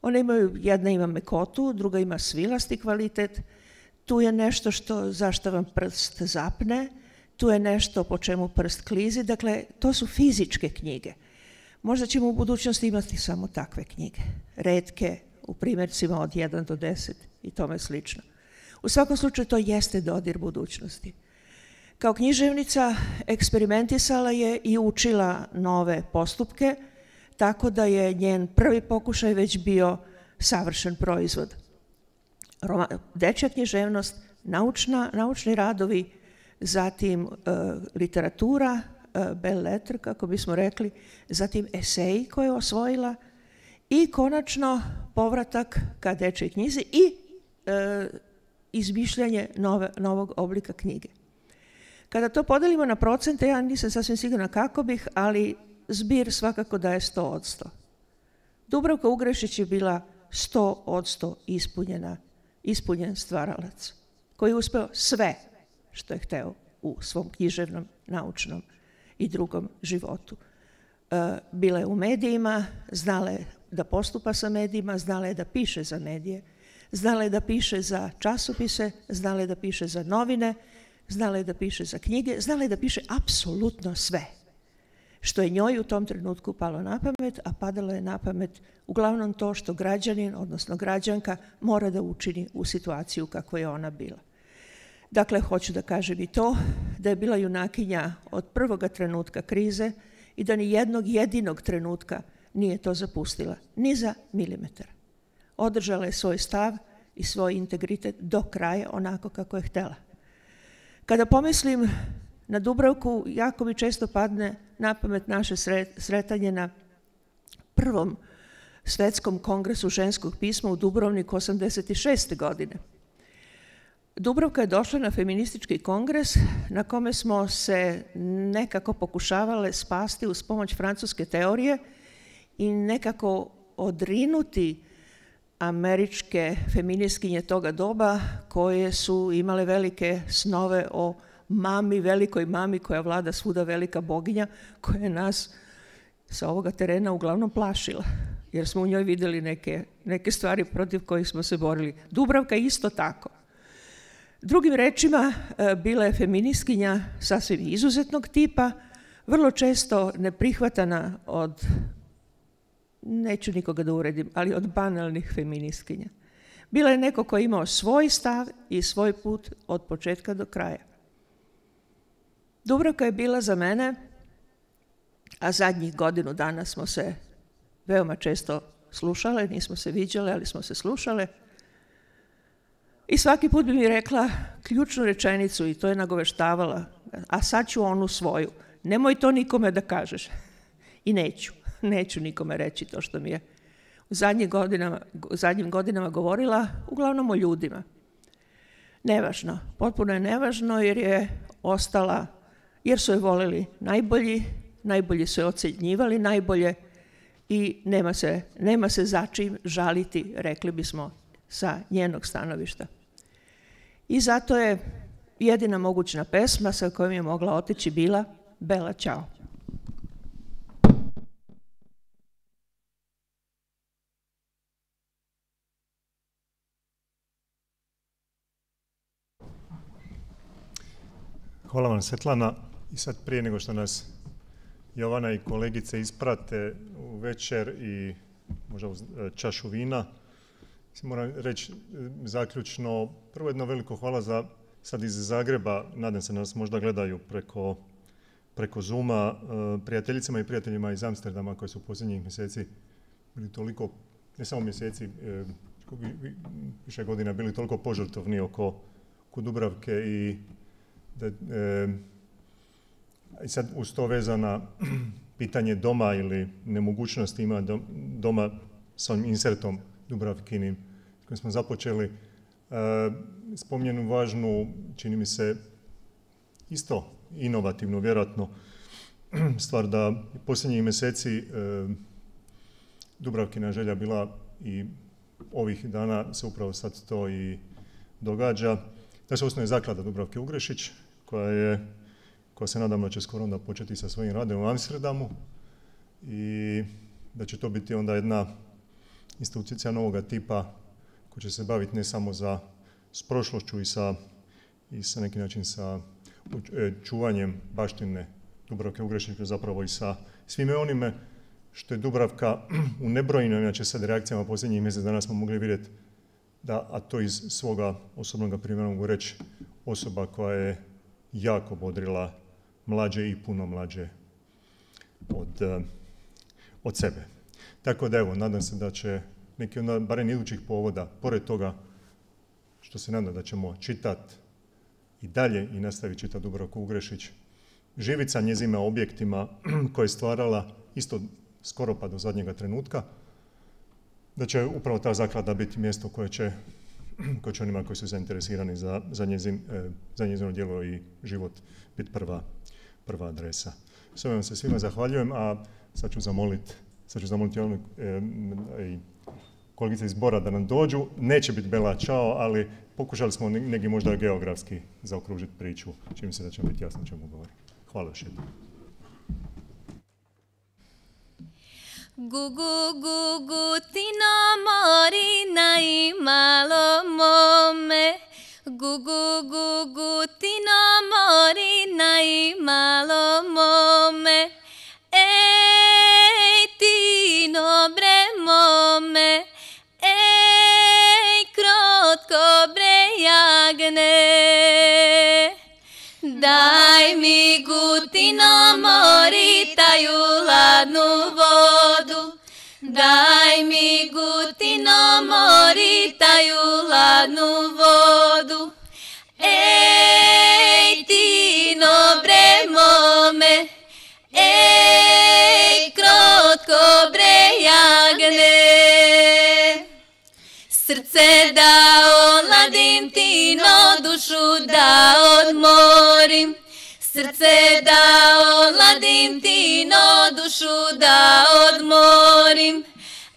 One imaju, jedna ima mekotu, druga ima svilasti kvalitet, tu je nešto što, zašto vam prst zapne, tu je nešto po čemu prst klizi, dakle to su fizičke knjige. Možda ćemo u budućnosti imati samo takve knjige, retke, u primjercima od jedan do deset i tome slično. U svakom slučaju to jeste dodir budućnosti. Kao književnica eksperimentisala je i učila nove postupke, tako da je njen prvi pokušaj već bio savršen proizvod. Roma, dečja književnost, naučna, naučni radovi, zatim e, literatura, e, belles lettres, kako bismo rekli, zatim eseji koje je osvojila i konačno povratak ka dečjoj knjizi i e, izmišljanje nove, novog oblika knjige. Kada to podelimo na procente, ja nisam sasvim sigurna kako bih, ali zbir svakako daje sto od sto. Dubravka Ugrešić je bila sto od sto ispunjena, ispunjen stvaralac, koji je uspeo sve što je hteo u svom književnom, naučnom i drugom životu. Bila je u medijima, znala je da postupa sa medijima, znala je da piše za medije, znala je da piše za časopise, znala je da piše za novine, znala je da piše za knjige, znala je da piše apsolutno sve što je njoj u tom trenutku palo na pamet, a padalo je na pamet uglavnom to što građanin, odnosno građanka, mora da učini u situaciju kako je ona bila. Dakle, hoću da kažem i to, da je bila junakinja od prvoga trenutka krize i da ni jednog jedinog trenutka nije to zapustila, ni za milimetar. Održala je svoj stav i svoj integritet do kraja onako kako je htela. Kada pomislim na Dubravku, jako mi često padne na pamet naše sretanje na prvom svetskom kongresu ženskog pisma u Dubrovniku osamdeset šeste godine. Dubravka je došla na feministički kongres na kome smo se nekako pokušavale spasti uz pomoć francuske teorije i nekako odrinuti američke feministkinje toga doba koje su imale velike snove o mami, velikoj mami koja vlada svuda, velika boginja koja je nas sa ovoga terena uglavnom plašila, jer smo u njoj vidjeli neke, neke stvari protiv kojih smo se borili. Dubravka isto tako. Drugim rečima, bila je feministkinja sasvim izuzetnog tipa, vrlo često neprihvatana od, neću nikoga da uredim, ali od banalnih feministkinja. Bila je neko ko je imao svoj stav i svoj put od početka do kraja. Dubravka je bila za mene, a zadnjih godinu dana smo se veoma često slušale, nismo se viđale, ali smo se slušale. I svaki put bi mi rekla ključnu rečenicu i to je nagoveštavala, a sad ću onu svoju. Nemoj to nikome da kažeš. I neću. Neću nikome reći to što mi je u zadnjim godinama, u zadnjim godinama govorila, uglavnom o ljudima. Nevažno. Potpuno je nevažno jer je ostala, jer su je voleli najbolji, najbolji su je ocjenjivali najbolje i nema se, nema se za čim žaliti, rekli bismo, sa njenog stanovišta. I zato je jedina mogućna pesma sa kojom je mogla otići bila Bela Ćao. Hvala vam, Svetlana. I sad prije nego što nas Jovana i kolegice isprate u večer i možda uz čašu vina, moram reći zaključno, prvo jedno veliko hvala za sad iz Zagreba, nadam se da nas možda gledaju preko, preko Zooma, prijateljicama i prijateljima iz Amsterdama koji su u posljednjih mjeseci bili toliko, ne samo mjeseci, više godina bili toliko požrtvovni oko, oko Dubravke i da, e, i sad uz to vezana pitanje doma ili nemogućnosti ima doma s ovim insertom Dubravkinim kojim smo započeli. E, Spomnjenu važnu, čini mi se, isto inovativno, vjerojatno, stvar da posljednjih mjeseci e, Dubravkina želja bila i ovih dana se upravo sad to i događa, da se osnuje zaklada Dubravke Ugrešić, koja je, koja se nadam da će skoro onda početi sa svojim radom u Amsterdamu i da će to biti onda jedna institucija novoga tipa koja će se baviti ne samo za, s prošlošću i sa, i sa neki način sa čuvanjem baštine Dubravke Ugrešić, zapravo i sa svime onime što je Dubravka u nebrojnim, inače sad reakcijama posljednjih mjesec dana smo mogli vidjeti da, a to iz svoga osobnog primjera mogu reći, osoba koja je jako bodrila mlađe i puno mlađe od, od sebe. Tako da evo, nadam se da će neki onda, barem idućih povoda, pored toga što se nadam da ćemo čitati i dalje i nastaviti čitati Dubravku Ugrešić, živjeti sa njezima objektima koje je stvarala isto skoro pa do zadnjega trenutka, da će upravo ta zaklada biti mjesto koje će, koje će onima koji su zainteresirani za, za, njezin, za njezino djelo i život biti prva, prva adresa. S ovim se svima zahvaljujem, a sad ću zamoliti sad ću zamoliti ono, e, i kolegice iz Bora da nam dođu. Neće biti Bela Ćao, ali pokušali smo neki možda geografski zaokružiti priču, čini se da će biti jasno o čemu govori. Hvala još jednom. Gugu, gugu, ti na mori na malo mome. Gugu, gugu, ti na mori na malo mome. Ej, ti dobre mome. Ej, krotko bre jagne. Daj mi guti na mori taju ladnu vodu. Daj mi guti na mori taju ladnu vodu. Ej, ti dobre mome. Ej, krotko bre jagne. Srce da oladim ti, no dušu da odmorim. Srce da oladim ti, no dušu da odmorim.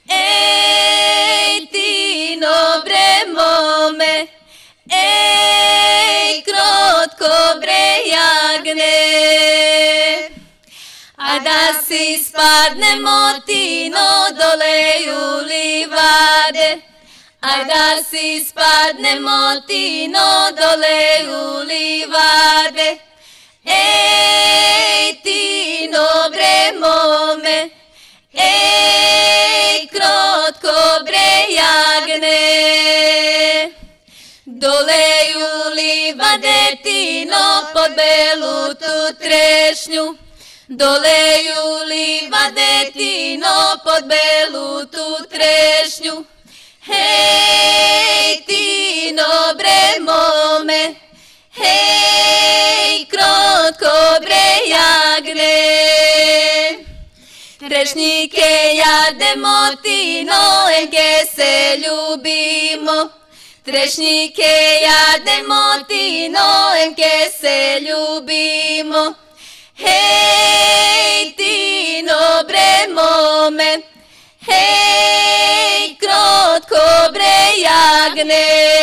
Ej, ti da si spadnemo tino dole u livade. Aj da si spadnemo tino dole u livade. Ej, tino bre mome, ej, krotko bre jagne. Dole u livade tino pod belu tu trešnju. Dole u livade tino pod belu tu trešnju. Hej, tino bre mome, hej, krotko bre jagne. Trešnjike jademo tino, enke se ljubimo. Trešnjike jademo tino, enke se ljubimo. Hej, tino bre mome, hej, krotko bre jagne.